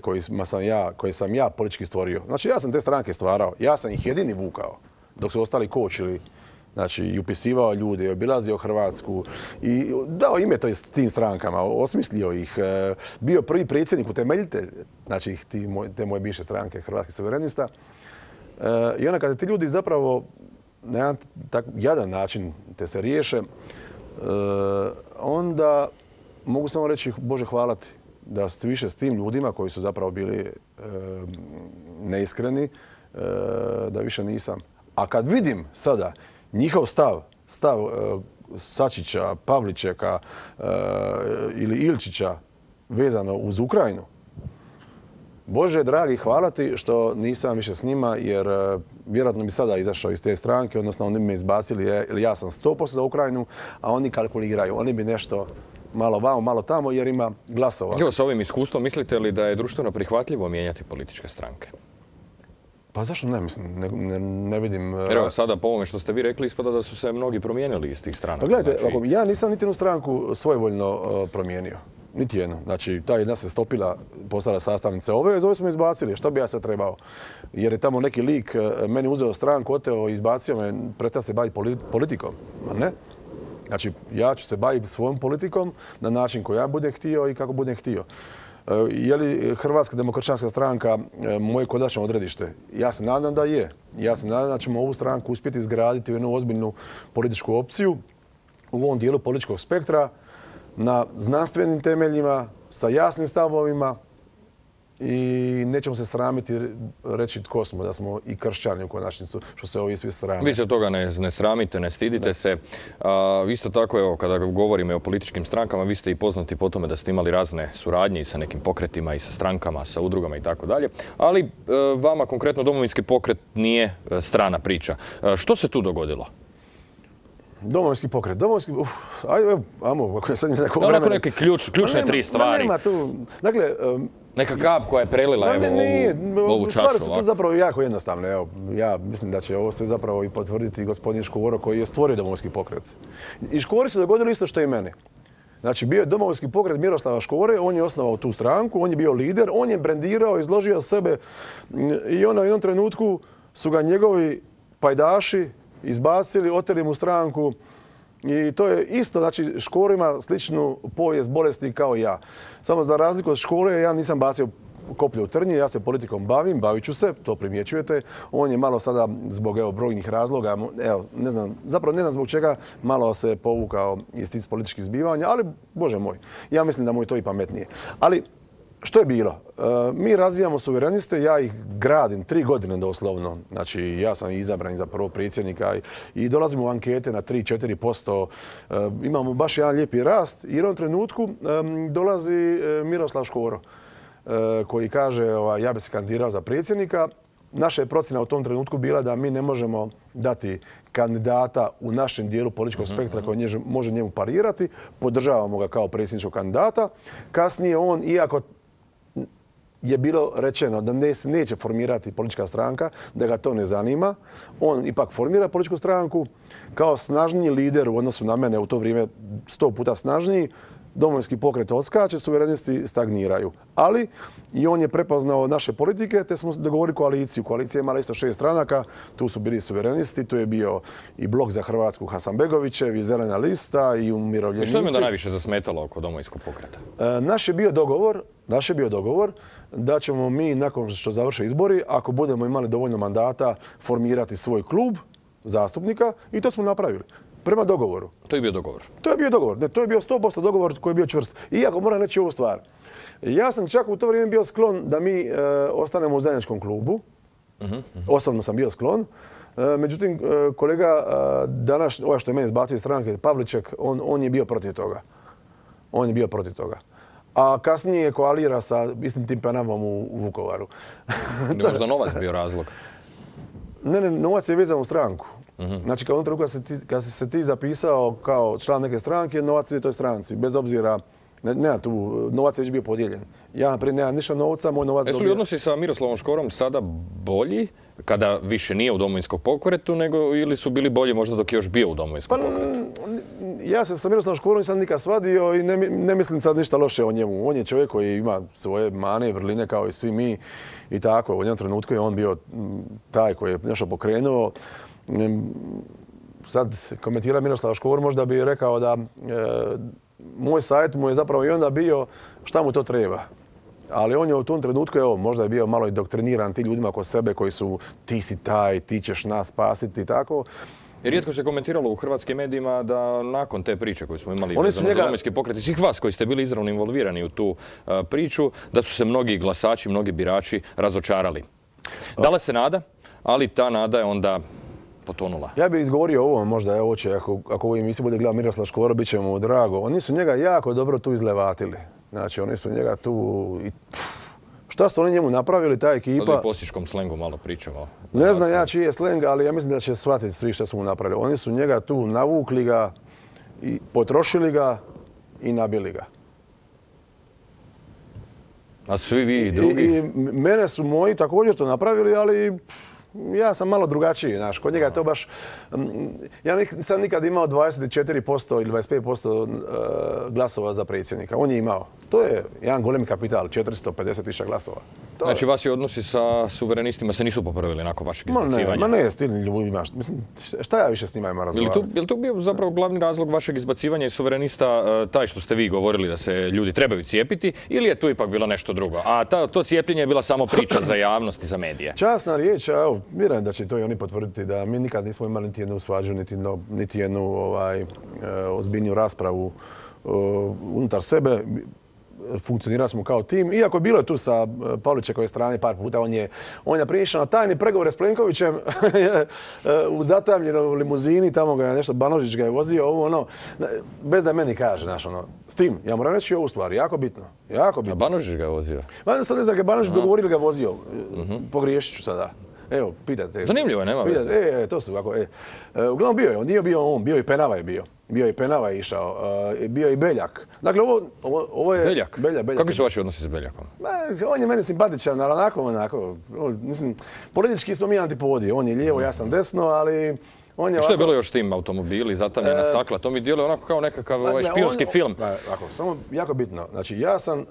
koje sam ja politički stvorio. Znači ja sam te stranke stvarao, ja sam ih jedini vukao dok su ostali kočili. Znači i upisivao ljude, obilazio Hrvatsku i dao ime tim strankama, osmislio ih, bio prvi predsjednik, utemeljitelj, znači te moje bivše stranke Hrvatskih suverenista. I onda kada ti ljudi zapravo na jedan tako jadan način te se riješe, onda mogu samo reći Bože hvala ti da ste više s tim ljudima koji su zapravo bili neiskreni, da više nisam. A kad vidim sada njihov stav Sačića, Pavličeka ili Ilčića vezano uz Ukrajinu, Bože dragi, hvala ti što nisam više s njima, jer vjerojatno bi sada izašao iz te stranke, odnosno oni bi me izbacili, jer ja sam 100% za Ukrajinu, a oni kalkuliraju. Oni bi nešto malo vamo, malo tamo, jer ima glasova. Evo, sa ovim iskustvom, mislite li da je društveno prihvatljivo mijenjati političke stranke? Pa zašto ne, mislim, ne vidim. Evo sada po ovome što ste vi rekli ispada da su se mnogi promijenili iz tih stranaka. Pa gledajte, ja nisam niti jednu stranku svojevoljno promijenio. Niti jednu. Znači, ta jedna se stopila, postala sastavnice ove, iz ove smo izbacili. Što bi ja sad trebao? Jer je tamo neki lik meni uzeo stranku, oteo, izbacio me, prestao se baviti politikom. Ne? Znači, ja ću se baviti svojom politikom na način koji ja budem htio i kako budem htio. Je li Hrvatska demokršćanska stranka moje konačno odredište? Ja se nadam da je. Ja se nadam da ćemo ovu stranku uspjeti izgraditi u jednu ozbiljnu političku opciju u ovom dijelu političkog spektra na znanstvenim temeljima, sa jasnim stavovima i nećemo se sramiti reći tko smo, da smo i kršćani u konačnicu, što se ovi svi srame. Vi se toga ne sramite, ne stidite se. Isto tako, evo, kada govorimo o političkim strankama, vi ste i poznati po tome da ste imali razne suradnje i sa nekim pokretima i sa strankama, sa udrugama i tako dalje. Ali vama konkretno Domovinski pokret nije strana priča. Što se tu dogodilo? Domovinski pokret. Ajmo, ako je sad neko vremena. Onako neke ključne tri stvari. Nema tu, dakle... Neka kap koja je prelila ovu čašu. Stvari su tu zapravo jako jednostavne. Evo, ja mislim da će ovo sve zapravo i potvrditi gospodin Škoro koji je stvorio Domovinski pokret. I Škori se dogodilo isto što i meni. Znači, bio je Domovinski pokret Miroslava Škore, on je osnovao tu stranku, on je bio lider, on je brendirao, izložio sebe i u jednom trenutku su ga njegovi pajdaši izbacili, oteli mu stranku i to je isto, znači Škoro ima sličnu povijest bolesti kao i ja. Samo za razliku od Škore, ja nisam bacio koplje u trnje, ja se politikom bavit ću se, to primjećujete. On je malo sada zbog brojnih razloga, ne znam zbog čega, malo se povukao iz tih političkih zbivanja, ali Bože moj, ja mislim da mu je to i pametnije. Ali što je bilo? Mi razvijamo suvereniste, ja ih gradim 3 godine doslovno. Znači, ja sam izabran za prvog predsjednika i dolazimo u ankete na 3-4%. Imamo baš jedan lijepi rast i u jednom trenutku dolazi Miroslav Škoro koji kaže ja bi se kandidirao za predsjednika. Naša je procjena u tom trenutku bila da mi ne možemo dati kandidata u našem dijelu političkog spektra koji može njemu parirati. Podržavamo ga kao predsjedničkog kandidata. Kasnije on, iako je bilo rečeno da neće formirati politička stranka, da ga to ne zanima, on ipak formira političku stranku kao snažniji lider u odnosu na mene, u to vrijeme 100 puta snažniji. Domovinski pokret odskače, suverenisti stagniraju. Ali i on je prepoznao naše politike, te smo dogovorili koaliciju. Koalicija je imala isto 6 stranaka, tu su bili suverenisti, tu je bio i Blok za Hrvatsku Hasanbegovićev, i Zelena lista, i Umirovljenici. I što je onda najviše zasmetalo oko Domovinskog pokreta? Naš je bio dogovor da ćemo mi, nakon što završe izbori, ako budemo imali dovoljno mandata, formirati svoj klub zastupnika i to smo napravili. Prema dogovoru. To je bio dogovor? To je bio dogovor. Ne, to je bio 100% dogovor koji je bio čvrst. Iako moram reći ovu stvar. Ja sam čak u to vrijeme bio sklon da mi ostanemo u zajedničkom klubu. Osobno sam bio sklon. Međutim, kolega danas, ovaj što je mene izbacio iz stranke, Pavliček, on je bio protiv toga. On je bio protiv toga. A kasnije je koalira sa istim tim Penavom u Vukovaru. Je možda novac bio razlog? Ne, novac je vezan u stranku. Znači, kao kad si se ti zapisao kao član neke stranke, novac ide toj stranci, bez obzira, nema tu, novac je već bio podijeljen. Ja, naprijed, nemam ništa novca, moj novac... Jesu li odnosi sa Miroslavom Škorom sada bolji, kada više nije u Domovinskom pokretu, ili su bili bolji možda dok je još bio u Domovinskom pokretu? Ja se sa Miroslavom Škorom nisam nikad svadio i ne mislim sad ništa loše o njemu. On je čovjek koji ima svoje mane i vrline kao i svi mi i tako. U jednom trenutku je on bio taj koji je nešto pokrenuo. Sad komentira Miroslav Škor, možda bi rekao da moj savjet mu je zapravo i onda bio šta mu to treba. Ali on je u tom trenutku, možda je bio malo i doktriniran ti ljudima oko sebe koji su ti si taj, ti ćeš nas spasiti i tako. Rijetko se komentiralo u hrvatskim medijima da nakon te priče koju smo imali vezano za Domovinski pokret i svih vas koji ste bili izravno involvirani u tu priču, da su se mnogi glasači, mnogi birači razočarali. Dala se nada, ali ta nada je onda potonula. Ja bih izgovorio ovo, možda je oče, ako ovu emisiju bude gledao Miroslav Škoro, bit će mu drago. Oni su njega jako dobro tu izlevatili. Znači, oni su njega tu... Šta su oni njemu napravili, ta ekipa... Sad bi u postiškom slengu malo pričamo. Ne znam ja čiji je sleng, ali ja mislim da će shvatiti svi što su mu napravili. Oni su njega tu navukli ga, i potrošili ga i nabili ga. A svi vi i drugi? I mene su moji također to napravili, ali... Ja sam malo drugačiji, znaš, kod njega je to baš... Ja sam nikad imao 24% ili 25% glasova za predsjednika. On je imao. To je jedan golemi kapital, 450.000 glasova. Znači, vaši odnosi sa suverenistima se nisu popravili nakon vašeg izbacivanja? Ma ne, s tim ljudima. Mislim, šta ja više s njima imam razgovarati? Je li to bio zapravo glavni razlog vašeg izbacivanja iz suverenista, taj što ste vi govorili da se ljudi trebaju cijepiti, ili je tu ipak bilo nešto drugo? A to cijepljenje je bila samo priča za javnost i za medije? Časna riječ, evo, vjerujem da će to i oni potvrditi, da mi nikad nismo imali niti jednu svađu, niti jednu ozbiljniju raspravu unutar sebe. Funkcionirali smo kao tim. Iako je bilo tu sa Pavličekove strane par puta, on je prišao na tajni pregovore s Plenkovićem u zatamljenoj limuzini, tamo ga je nešto, Banožić ga je vozio, ovo ono, bez da meni kaže, znaš ono. S tim, ja moram reći ovu stvar, jako bitno. A Banožić ga je vozio? Sad ne znam, ga je Banožić dogovorio ili ga vozio. Pogriješit ću sada. Evo, pitate. Zanimljivo je, nema veze. To su ovako, uglavnom bio je, on nije bio on, bio i Penava je bio. Bio i Penava je išao, bio i Beljak. Dakle, ovo je... Beljak? Kakvi su vaši odnosi s Beljakom? On je meni simpatičan, ali onako, mislim, politički smo mi antipodi. On je lijevo, ja sam desno, ali Što je bilo još s tim automobili, zatamljena stakla? To mi djeluje onako kao nekakav špijunski film. Samo jako bitno. Znači, ja sam,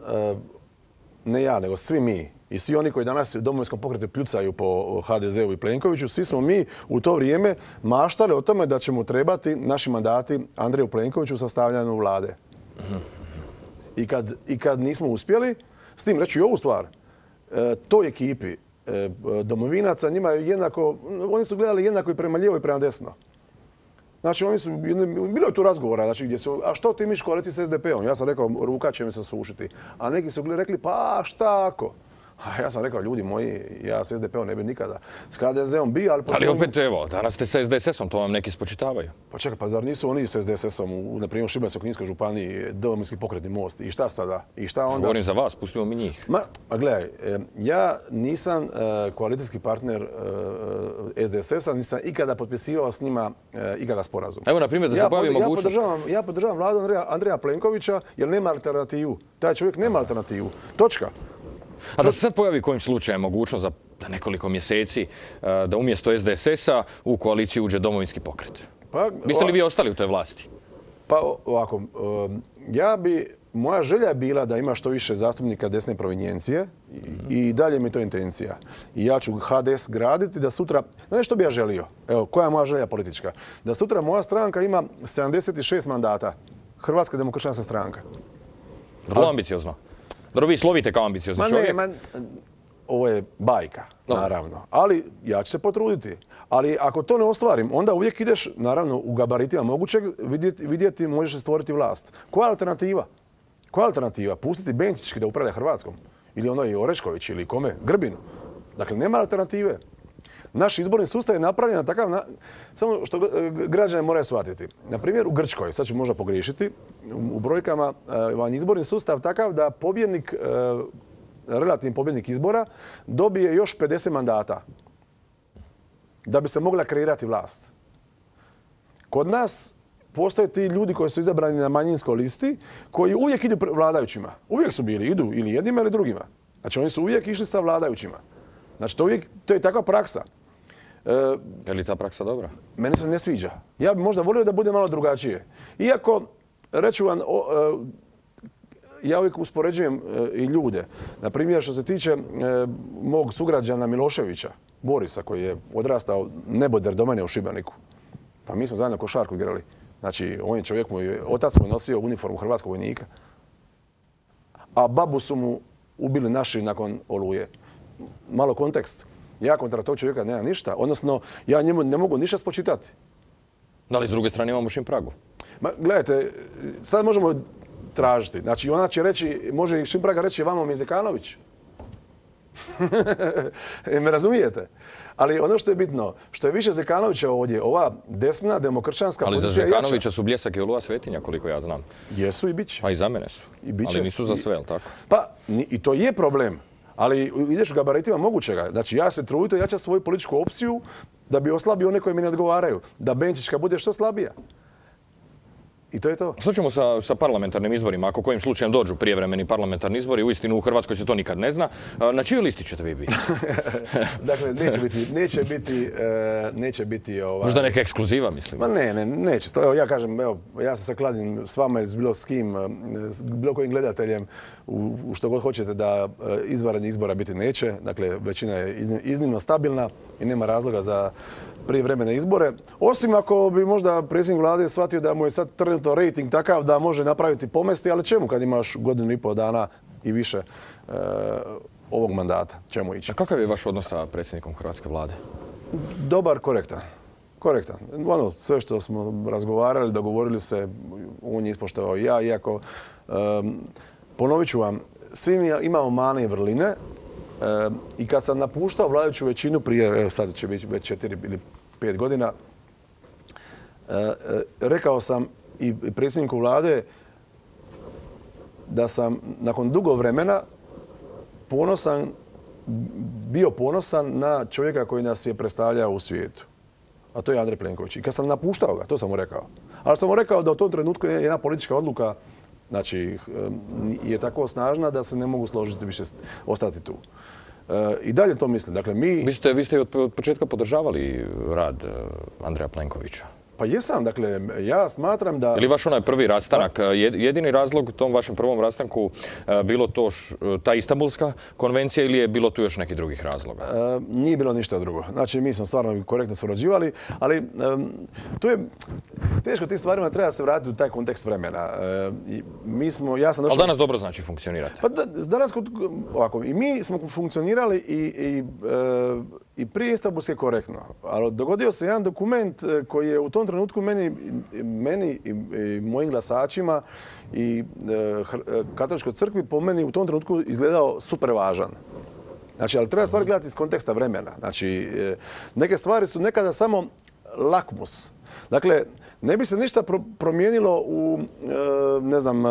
ne ja, nego svi mi i svi oni koji danas u Domovinskom pokretu pljucaju po HDZ-u i Plenkoviću, svi smo mi u to vrijeme maštali o tome da će mu trebati naši mandati Andreju Plenkoviću u sastavljanju vlade. I kad nismo uspjeli, s tim reći i ovu stvar, toj ekipi domovinaca, njima je jednako, oni su gledali jednako i prema lijevo i prema desno. Znači, bilo je tu razgovora, znači, gdje su, a što ti miš koaliti s SDP-om? Ja sam rekao, ruka će mi se sušiti. A neki su rekli, pa šta ako? A ja sam rekao, ljudi moji, ja s SDP-om ne bi nikada. S HDZ-om bi, ali... Ali opet, evo, danas ste sa SDSS-om, to vam neki spočitavaju. Pa čekaj, pa zar nisu oni s SDSS-om, na primjer u Šibensko-kninskoj županiji, Domovinski pokretni most? I šta sada? I šta onda? Govorim za vas, pustimo mi njih. Ma gledaj, ja nisam koalicijski partner SDSS-a, nisam ikada potpisivao s njima ikada sporazum. Evo, na primjer, da se bavi mogućnost... Ja podržavam vladu Andreja Plenkovića jer nema alternativu. Taj čovjek nema alternativu. Točka. A da se sad pojavi kojim slučajem mogućnost za nekoliko mjeseci da umjesto SDSS-a u koaliciju uđe Domovinski pokret? Biste li vi ostali u toj vlasti? Pa ovako, moja želja je bila da ima što više zastupnika desne provenijencije i dalje mi je to intencija. I ja ću HDS graditi da sutra, znaš što bi ja želio? Evo, koja je moja želja politička? Da sutra moja stranka ima 76 mandata. Hrvatska demokršćanska stranka. Vrlo ambiciozno. Dobro, vi slovite kao ambiciozni čovjek. Ovo je bajka, naravno. Ali ja ću se potruditi. Ali ako to ne ostvarim, onda uvijek ideš, naravno, u gabaritima mogućeg vidjeti, možeš stvoriti vlast. Koja je alternativa? Koja je alternativa? Pustiti Benčićki da upravlja Hrvatskom? Ili ono i Orešković ili kome? Grbinu? Dakle, nema alternative. Naš izborni sustav je napravljen na takav samo što građani moraju shvatiti. Na primjer, u Grčkoj, sad ću možda pogriješiti, u brojkama vam izborni sustav takav da pobjednik, relativni pobjednik izbora dobije još 50 mandata da bi se mogla kreirati vlast. Kod nas postoje ti ljudi koji su izabrani na manjinskoj listi koji uvijek idu vladajućima. Uvijek su bili, idu ili jednima ili drugima. Znači oni su uvijek išli sa vladajućima. Znači to je takva praksa. Je li ta praksa dobra? Meni se ne sviđa. Ja bih možda volio da bude malo drugačije. Iako, reću vam, ja uvijek uspoređujem i ljude. Na primjer, što se tiče mog sugrađana Miloševića, Borisa, koji je odrastao neboder do mene u Šibeniku. Pa mi smo zajedno košarku igrali. Znači, on je čovjek otac mu je nosio uniformu hrvatskog vojnika. A babu su mu ubili naši nakon Oluje. Malo kontekst. Ja kontra tog čovjeka nemam ništa. Odnosno, ja njemu ne mogu ništa spočitati. Da li s druge strane imamo Šimpragu? Ma, gledajte, sad možemo tražiti. Znači, ona će reći, može i Šimpraga reći vamo mi Zekanović. Me razumijete? Ali ono što je bitno, što je više Zekanovića ovdje, ova desna demokršćanska pozicija jača. Ali za Zekanovića su Bljesak i Oluja svetinja, koliko ja znam. Jesu i bit će. A i za mene su. Ali nisu za sve, jel tako? Pa, i to je problem. Ali ideš u gabaritima mogućega. Znači, ja se trudim jačati svoju političku opciju da bi oslabio one koji mi ne odgovaraju. Da Benčićka bude što slabija. I to je to. Što ćemo sa parlamentarnim izborima? Ako kojim slučajem dođu prijevremeni parlamentarni izbori, uistinu u Hrvatskoj se to nikad ne zna. Na čiju listi ćete vi biti? Dakle, neće biti... Možda neka ekskluziva, mislim. Ma neće. Evo, ja kažem, ja se sad kladim s vama ili s bilo s kim, s bilo kojim gledateljem, u što god hoćete da izvanrednih izbora biti neće. Dakle, većina je iznimno stabilna i nema razloga za prijevremene izbore. Osim ako bi možda predsjednik vlade shvatio da mu je sad trenutno rejting takav da može napraviti pomesti, ali čemu kad imaš godinu i pol dana i više ovog mandata? Čemu ići? A kakav je vaš odnos sa predsjednikom hrvatske vlade? Dobar, korektan. Korektan. Ono, sve što smo razgovarali, dogovorili se, on je ispoštovao ja, iako ponovit ću vam, svi imamo mane i vrline. I kad sam napuštao vladajuću većinu prije, sad će biti već 4 ili 5 godina, rekao sam i predsjedniku vlade da sam nakon dugo vremena bio ponosan na čovjeka koji nas je predstavljao u svijetu. A to je Andrej Plenković. I kad sam napuštao ga, to sam mu rekao. Ali sam mu rekao da u tom trenutku je jedna politička odluka, znači, je tako snažna da se ne mogu složiti više ostati tu. I dalje to mislim. Dakle, Vi ste od početka podržavali rad Andreja Plenkovića. Pa jesam, dakle, ja smatram da... Je li vaš onaj prvi rastanak, jedini razlog u tom vašem prvom rastanku bilo to ta Istanbulska konvencija ili je bilo tu još nekih drugih razloga? Nije bilo ništa drugo. Znači, mi smo stvarno korektno surađivali, ali tu je teško tim stvarima treba se vratiti u taj kontekst vremena. Ali danas dobro znači funkcionirate? Pa danas, ovako, i mi smo funkcionirali i prije Istanbulske korektno. Ali dogodio se jedan dokument koji je u tom trenutku meni i mojim glasačima i katoličkoj crkvi po meni u tom trenutku izgledao super važan. Znači, ali treba stvari gledati iz konteksta vremena. Znači, neke stvari su nekada samo lakmus. Dakle, ne bi se ništa promijenilo u, ne znam,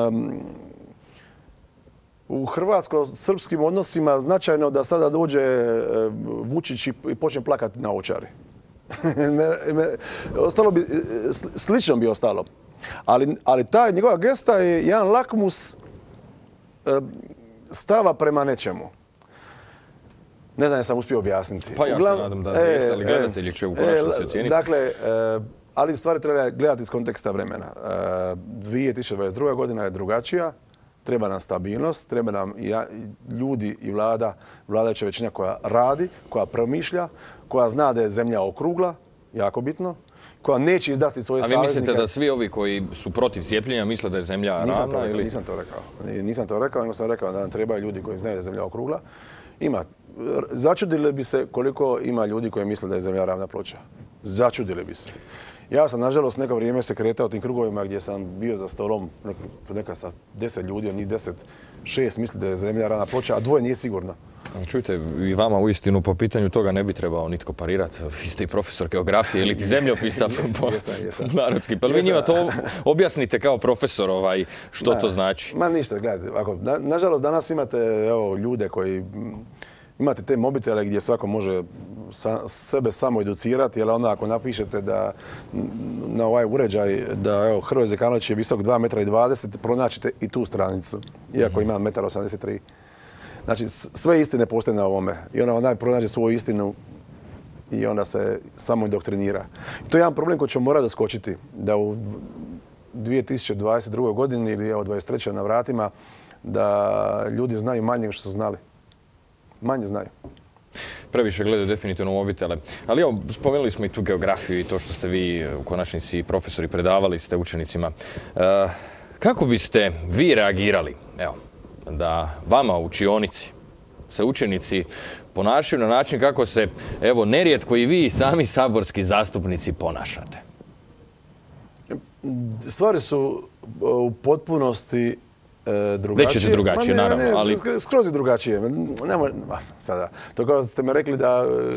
u hrvatsko-srpskim odnosima značajno da sada dođe Vučić i počne plakati na Ovčari. Ostalo bi, slično bi ostalo. Ali ta njegova gesta je jedan lakmus stava prema nečemu. Ne znam, jesam uspio objasniti. Pa ja se nadam da jeste, ali gledatelji će u konačnici ocijeniti. Dakle, ali stvari treba gledati iz konteksta vremena. 2022. godina je drugačija. Treba nam stabilnost, treba nam ljudi i vladajuća većina koja radi, koja promišlja, koja zna da je zemlja okrugla, jako bitno, koja neće izdati svoje saveznike. A vi mislite da svi ovi koji su protiv cijepljenja misle da je zemlja ravna? Nisam to rekao. Nisam to rekao, nego sam rekao da nam trebaju ljudi koji znaju da je zemlja okrugla. Začudili bi se koliko ima ljudi koji misle da je zemlja ravna ploča. Začudili bi se. Ja sam, nažalost, neko vrijeme se kretao tim krugovima gdje sam bio za stolom neka sa 10 ljudi, njih 6 misli da je zemlja ravna ploča, a 2 nije sigurno. Čujte, i vama uistinu po pitanju toga ne bi trebao nitko parirati. Vi ste i profesor geografije ili ti zemljopisa po narodski. Pa vi njima to objasnite kao profesor što to znači? Ma ništa, gledajte. Nažalost, danas imate ljude koji... Imate te mobitele gdje svako može sebe samo educirati, jer onda ako napišete da na ovaj uređaj da Hrvoje Zekanović je visok 2,20 m, pronaćete i tu stranicu, iako ima 1,83 m. Znači, sve istine postoje na ovome. I onda pronađe svoju istinu i onda se samo indoktrinira. I to je jedan problem koji ćemo morati doskočiti, da u 2022. godini ili 2023. na vratima, da ljudi znaju manje nego što su znali. Manje znaju. Previše gledaju definitivno mobitele. Ali evo, spomenuli smo i tu geografiju i to što ste vi u konačnici profesori predavali ste učenicima. Kako biste vi reagirali, evo, da vama u učionici se učenici ponašaju na način kako se, evo, nerijetko i vi sami saborski zastupnici ponašate? Stvari su u potpunosti drugačije. Reći ćete drugačije, naravno, ali... Skroz je drugačije. Sada, to kao ste me rekli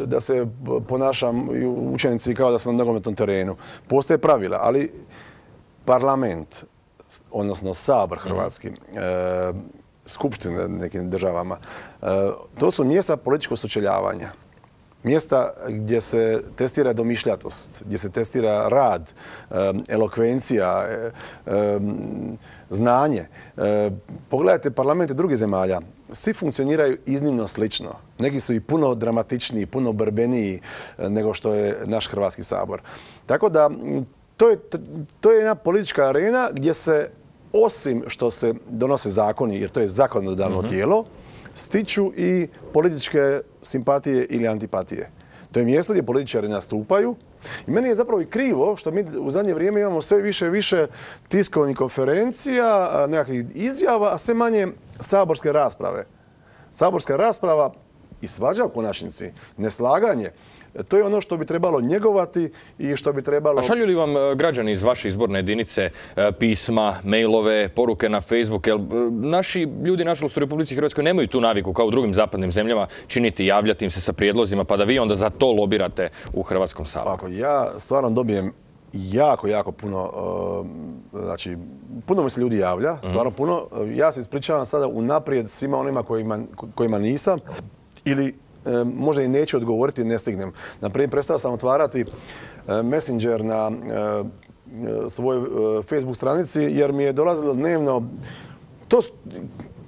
da se ponašam učenici kao da sam na nogometnom terenu. Postoje pravila, ali parlament, odnosno Sabor hrvatski, skupštine nekim državama, to su mjesta političkog sučeljavanja. Mjesta gdje se testira domišljatost, gdje se testira rad, elokvencija, znanje. Pogledajte parlamente drugih zemalja. Svi funkcioniraju iznimno slično. Neki su i puno dramatičniji, puno borbeniji nego što je naš Hrvatski sabor. Tako da to je jedna politička arena gdje se, osim što se donose zakoni, jer to je zakonodavno tijelo, stiču i političke simpatije ili antipatije. To je mjesto gdje političari nastupaju. I meni je zapravo i krivo što mi u zadnje vrijeme imamo sve više i više tiskovnih konferencija, nekakvih izjava, a sve manje saborske rasprave. Saborska rasprava i svađa u konačnici, neslaganje, to je ono što bi trebalo njegovati i što bi trebalo... A šalju li vam građani iz vaše izborne jedinice pisma, mailove, poruke na Facebook? Jer naši ljudi, nažalost, u Republici Hrvatskoj nemaju tu naviku kao u drugim zapadnim zemljama činiti, javljati im se sa prijedlozima, pa da vi onda za to lobirate u Hrvatskom saboru. Ako ja stvarno dobijem jako puno, znači, puno mi se ljudi javlja, stvarno puno. Ja se ispričavam sada unaprijed svima onima kojima nisam ili možda i neću odgovoriti, ne stignem. Naprimjer, prestao sam otvarati Messenger na svojoj Facebook stranici jer mi je dolazilo dnevno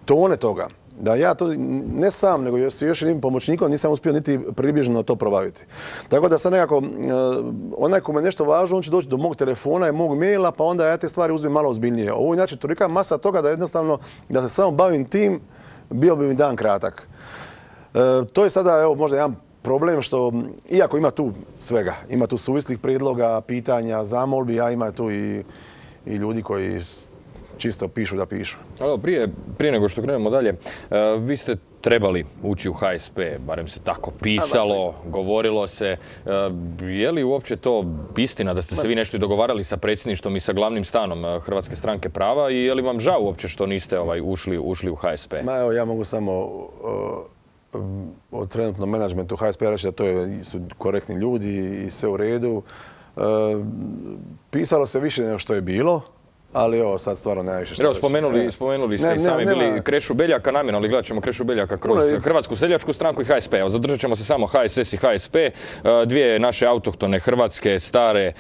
tone toga. da ja to ne sam, nego s još jednim pomoćnikom nisam uspio niti približno to probaviti. Tako da sad nekako, onaj ko me nešto važno, on će doći do mog telefona i mog maila, pa onda ja te stvari uzmem malo ozbiljnije. Ovo je inače tolika masa toga da jednostavno, da se samo bavim tim, bio bi mi dan kratak. To je sada, evo, možda jedan problem što, iako ima tu svega, ima tu suvislih prijedloga, pitanja, zamolbi, a ima tu i ljudi koji čisto pišu da pišu. Prije nego što krenemo dalje, vi ste trebali ući u HSP, barem se tako pisalo, govorilo se. Je li uopće to istina da ste se vi nešto i dogovarali sa predsjedništvom i sa glavnim stanom Hrvatske stranke prava i je li vam žao uopće što niste ušli u HSP? Evo, ja mogu samo o trenutnom menadžmentu HSP reći da su korektni ljudi i sve u redu. Pisalo se više nego što je bilo. Ali evo, sad stvarno najviše što... Evo, spomenuli ste i sami bili Krešu Beljaka namjerno, ali gledat ćemo Krešu Beljaka kroz Hrvatsku seljačku stranku i HSP. Evo, zadržat ćemo se samo HSS i HSP, dvije naše autohtone hrvatske stare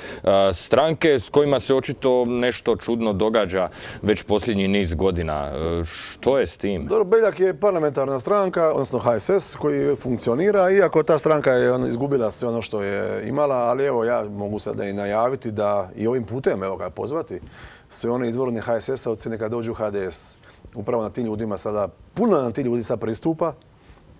stranke s kojima se očito nešto čudno događa već posljednji niz godina. Što je s tim? Dobro, Beljak je parlamentarna stranka, odnosno HSS koji funkcionira, iako ta stranka je izgubila sve ono što je imala, ali evo, ja mogu sada i najaviti da i ovim putem, evo ga, pozvati sve one izvorne HSS-ovci neka dođu u HDS. Upravo na tim ljudima sada, puno nam ti ljudi sad pristupa,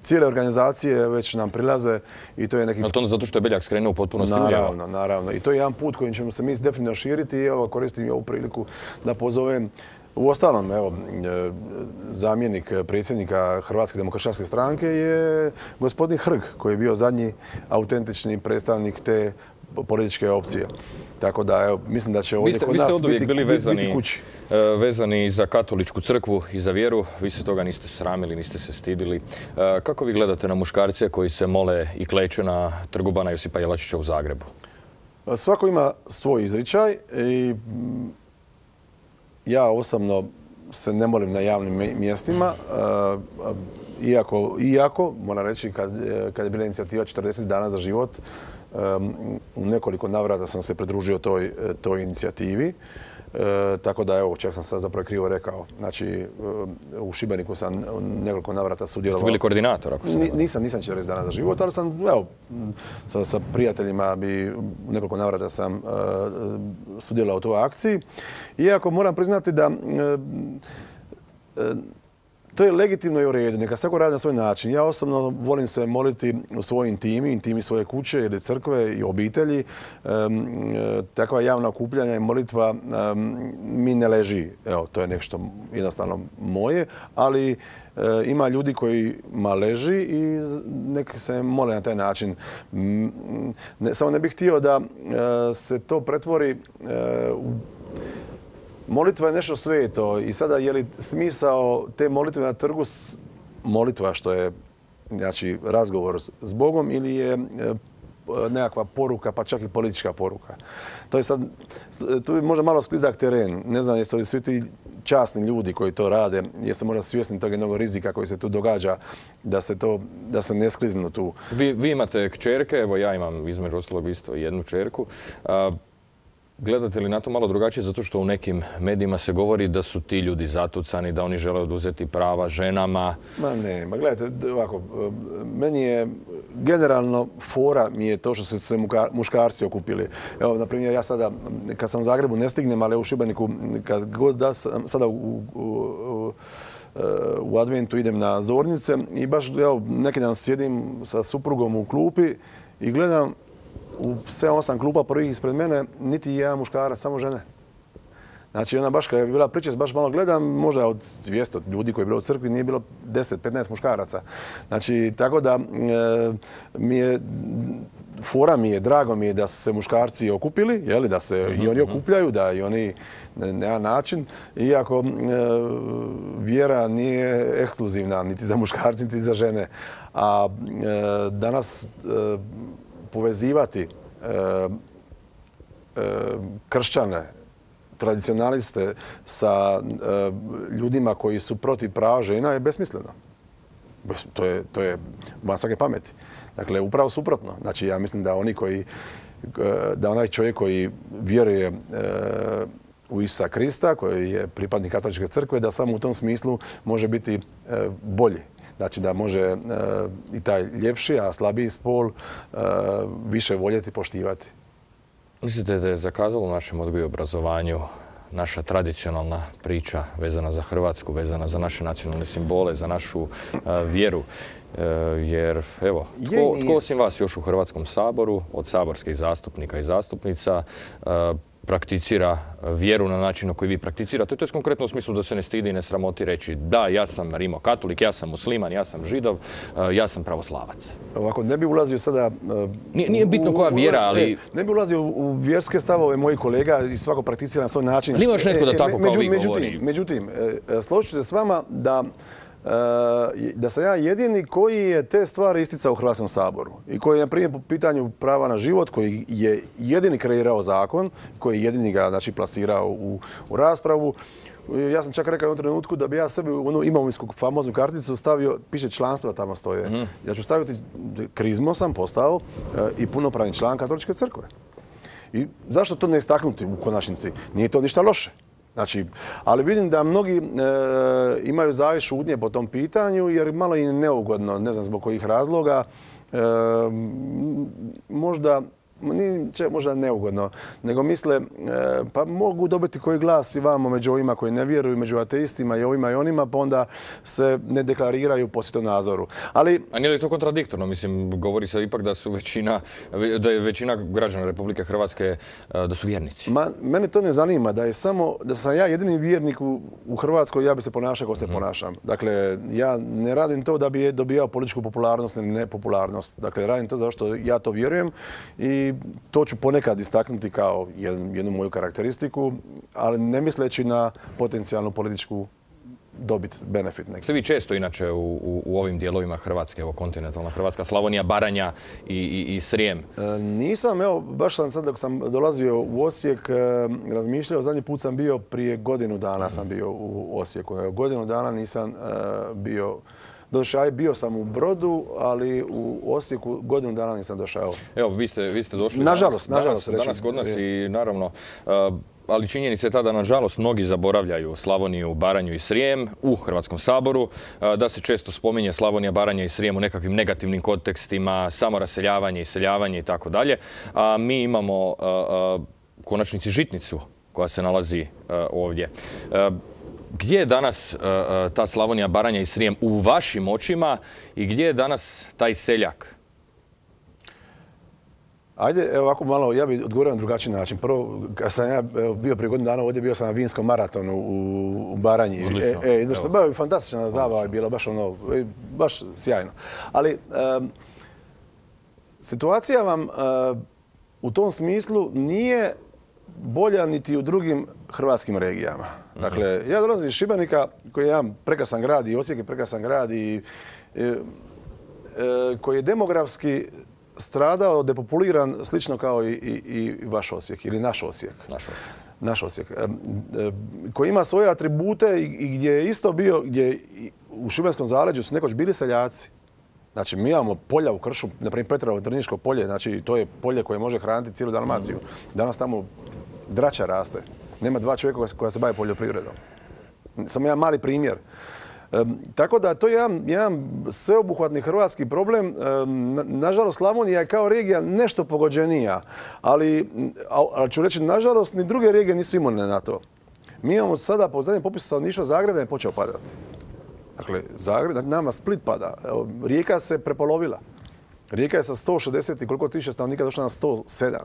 cijele organizacije već nam prilaze i to je neki... Ali to zato što je Beljak skrenuo u potpunosti uljeva? Naravno. I to je jedan put kojim ćemo se mi definitivno širiti i evo koristim ovu priliku da pozovem. Uostalom, evo, zamjenik predsjednika Hrvatske demokršćanske stranke je gospodin Hrg, koji je bio zadnji autentični predstavnik te političke opcije. Tako da, evo, mislim da će ovdje kod nas biti kući. Vezani za katoličku crkvu i za vjeru, vi se toga niste sramili, niste se stidili. Kako vi gledate na muškarce koji se mole i kleče na Trgu Bana Josipa Jelačića u Zagrebu? Svako ima svoj izričaj i ja osobno se ne molim na javnim mjestima, iako moram reći, kad je bila inicijativa 40 dana za život, u nekoliko navrata sam se pridružio toj inicijativi. Tako da, evo, čak sam sad zapravo krivo rekao. Znači, u Šibeniku sam nekoliko navrata sudjelovao. Ste bili koordinator, ako se ne... Nisam 40 dana za život, ali sam, evo, sa prijateljima u nekoliko navrata sam sudjelovao u toj akciji. Iako moram priznati da to je legitimno i u redu, neka svako radi na svoj način. Ja osobno volim se moliti u svojoj intimi svoje kuće ili crkve i obitelji. Takva javna okupljanja i molitva mi ne leži. Evo, to je nešto jednostavno moje, ali ima ljudi kojima leži i neki se mole na taj način. Samo ne bih htio da se to pretvori u... Molitva je nešto sveto i sada je li smisao te molitve na trgu molitva što je, znači, razgovor s Bogom ili je nekakva poruka, pa čak i politička poruka. To je sad, tu je možda malo sklizak teren. Ne znam jeste li svi ti časni ljudi koji to rade, jeste možda svjesni tog jednog rizika koji se tu događa, da se ne skliznu tu. Vi imate kćerke, evo ja imam između ostalog isto jednu kćerku. Gledate li na to malo drugačije zato što u nekim medijima se govori da su ti ljudi zatucani, da oni žele oduzeti prava ženama? Ma gledajte, ovako, meni je generalno fora mi je to što su se muškarci okupili. Evo, na primjer, ja sada, kad sam u Zagrebu ne stignem, ali u Šibeniku, kad god da sam sada u adventu idem na Zornice i baš, evo, neki dan sjedim sa suprugom u klupi i gledam u 7-8 klupa prvih ispred mene, niti jedan muškarac, samo žene. Znači, ona baš kad je bila priča, baš malo gledam, možda od 200 ljudi koji je bilo u crkvi, nije bilo 10-15 muškaraca. Znači, tako da fora mi je, drago mi je da su se muškarci okupili, jeli, da se i oni okupljaju, da i oni na jedan način, iako vjera nije ekskluzivna niti za muškarci, niti za žene. A danas povezivati kršćane, tradicionaliste sa ljudima koji su protiv prava žena je besmisleno. To je van svake pameti. Dakle, upravo suprotno. Znači, ja mislim da onaj čovjek koji vjeruje u Isusa Krista, koji je pripadnik katoličke crkve, da samo u tom smislu može biti bolji. Znači da može i taj ljepši, a slabiji spol više voljeti i poštivati. Mislite da je zakazalo u našem odgoju i obrazovanju naša tradicionalna priča vezana za Hrvatsku, vezana za naše nacionalne simbole, za našu vjeru? Jer, evo, tko osim vas još u Hrvatskom saboru, od saborskih zastupnika i zastupnica, prakticira vjeru na način na koji vi prakticirate? To je konkretno u smislu da se ne stidi i ne sramoti reći da, ja sam rimokatolik, ja sam musliman, ja sam židov, ja sam pravoslavac. Ovako, ne bi ulazio sada... Nije bitno koja vjera, ali... Ne bi ulazio u vjerske stavove mojih kolega i svako prakticira na svoj način. Ali ima još netko da tako kao vi govori? Međutim, složit ću se s vama da sam ja jedini koji je te stvari isticao u Hrvatskom saboru i koji je, na primjer, po pitanju prava na život, koji je jedini kreirao zakon, koji je jedini ga, znači, plasirao u raspravu. Ja sam čak rekao u jednom trenutku da bi ja sebi u onu imovinsku famoznu karticu stavio, piše članstva tamo stoje. Ja ću staviti, krizmo sam postao i punopravni član Katoličke crkve. I zašto to ne istaknuti u konačnici? Nije to ništa loše. Znači, ali vidim da mnogi imaju zavjet šutnje po tom pitanju jer malo im je neugodno, ne znam zbog kojih razloga, možda neugodno, nego misle pa mogu dobiti koji glas i vamo među ovima koji ne vjeruju, među ateistima i ovima i onima, pa onda se ne deklariraju po svjetonazoru. Ali... A nije li to kontradiktorno? Mislim, govori se ipak da je većina građana Republike Hrvatske da su vjernici. Mene to ne zanima, da sam ja jedini vjernik u Hrvatskoj, ja bi se ponašao kao se ponašam. Dakle, ja ne radim to da bi dobijao političku popularnost ili nepopularnost. Dakle, radim to zato što ja to vjerujem i to ću ponekad istaknuti kao jednu moju karakteristiku, ali ne misleći na potencijalnu političku dobit, benefit. Ste vi često inače u ovim dijelovima Hrvatske, evo kontinentalna Hrvatska, Slavonija, Baranja i Srijem? Nisam, evo, baš sam sad dok sam dolazio u Osijek razmišljao, zadnji put sam bio prije godinu dana sam bio u Osijeku. Godinu dana nisam bio. Došao, bio sam u Brodu, ali u Osijeku godinu dana nisam došao. Evo, vi ste došli nažalost, danas kod nas i naravno, ali činjenica je ta da nažalost mnogi zaboravljaju Slavoniju, Baranju i Srijem u Hrvatskom saboru, da se često spominje Slavonija, Baranja i Srijem u nekakvim negativnim kontekstima, samoraseljavanje, iseljavanje i tako dalje. A mi imamo u konačnici žitnicu koja se nalazi ovdje. Gdje je danas ta Slavonija, Baranja i Srijem u vašim očima i gdje je danas taj seljak? Ajde, evo ovako malo, ja bih odgovorio na drugačiji način. Prvo, kad sam ja bio prije godinu dana ovdje, bio sam na vinskom maratonu u Baranji. Odlično. Bio fantastična zabava je bila, baš sjajno. Ali situacija vam u tom smislu nije bolja niti u drugim hrvatskim regijama. Dakle, ja dolazim iz Šibenika, koji je jedan prekrasan grad, i Osijek je prekrasan grad, koji je demografski stradao, depopuliran, slično kao i vaš Osijek, ili naš Osijek. Naš Osijek. Koji ima svoje atribute i gdje je isto bio, gdje u Šibenskom zaleđu su nekoć bili seljaci. Znači, mi imamo polja u kršu, na primjer Petrovo Drniško polje, znači to je polje koje može hraniti cijelu Dalmaciju. Danas tamo drača raste. Nema dva čovjeka koja se bave poljoprivredom. Samo jedan mali primjer. Tako da to je jedan sveobuhvatni hrvatski problem. Nažalost, Slavonija je kao regija nešto pogođenija, ali ću reći, nažalost, ni druge regije nisu imune na to. Mi imamo sada, po zadnjem popisu stanovništva, Zagreb je počeo padati. Dakle, Zagreb, nama Split pada. Rijeka se prepolovila. Rijeka je sa 160 i koliko tisuća stanovnika došla na 107.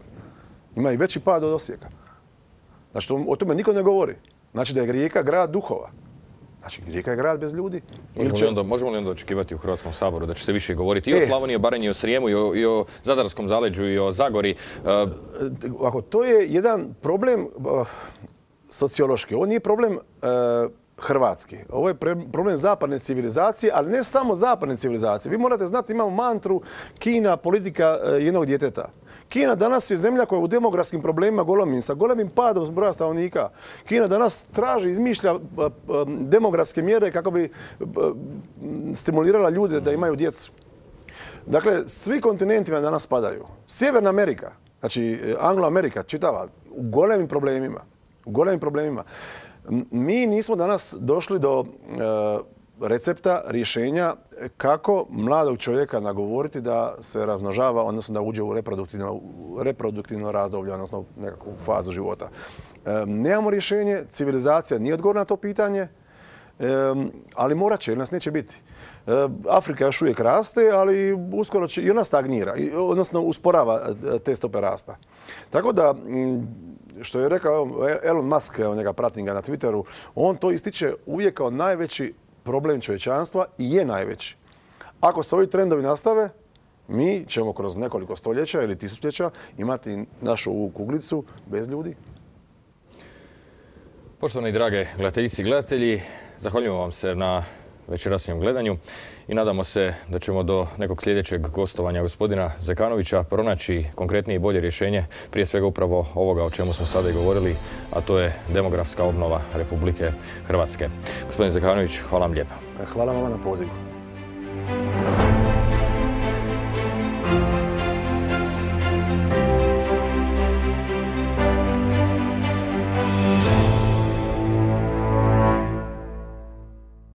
Ima i veći pad od Osijeka. Znači, o tome niko ne govori. Znači da je Rijeka grad duhova. Znači, Rijeka je grad bez ljudi. Možemo li onda očekivati u Hrvatskom saboru da će se više govoriti i o Slavoniji, o Baranji, i o Srijemu, i o Zadarskom zaleđu, i o Zagori? To je jedan problem sociološki. Ovo nije problem hrvatski. Ovo je problem zapadne civilizacije, ali ne samo zapadne civilizacije. Vi morate znati, imamo mantru Kina, politika jednog djeteta. Kina danas je zemlja koja je u demografskim problemima golemim, sa golemim padom broja stanovnika. Kina danas traži, izmišlja demografske mjere kako bi stimulirala ljude da imaju djecu. Dakle, svi kontinenti vam danas padaju. Sjeverna Amerika, znači Anglo-Amerika, čitava, u golemim problemima. u golemim problemima. Mi nismo danas došli do recepta, rješenja kako mladog čovjeka nagovoriti da se razmnožava, odnosno da uđe u reproduktivno razdoblje, odnosno nekakvu fazu života. Nemamo rješenje, civilizacija nije odgovor na to pitanje, ali morat će jer nas neće biti. Afrika još uvijek raste, ali uskoro će i ona stagnira, odnosno usporava te stope rasta. Tako da, što je rekao Elon Musk, njega pratim ga na Twitteru, on to ističe uvijek kao najveći problem čovječanstva i je najveći. Ako se ovi trendovi nastave, mi ćemo kroz nekoliko stoljeća ili tisućljeća imati našu ovu kuglicu bez ljudi. Poštovani drage gledateljice i gledatelji, zahvaljujemo vam se na večerašnjem gledanju i nadamo se da ćemo do nekog sljedećeg gostovanja gospodina Zekanovića pronaći konkretnije i bolje rješenje, prije svega upravo ovoga o čemu smo sada i govorili, a to je demografska obnova Republike Hrvatske. Gospodin Zekanović, hvala vam lijepa. Hvala vam na pozivu.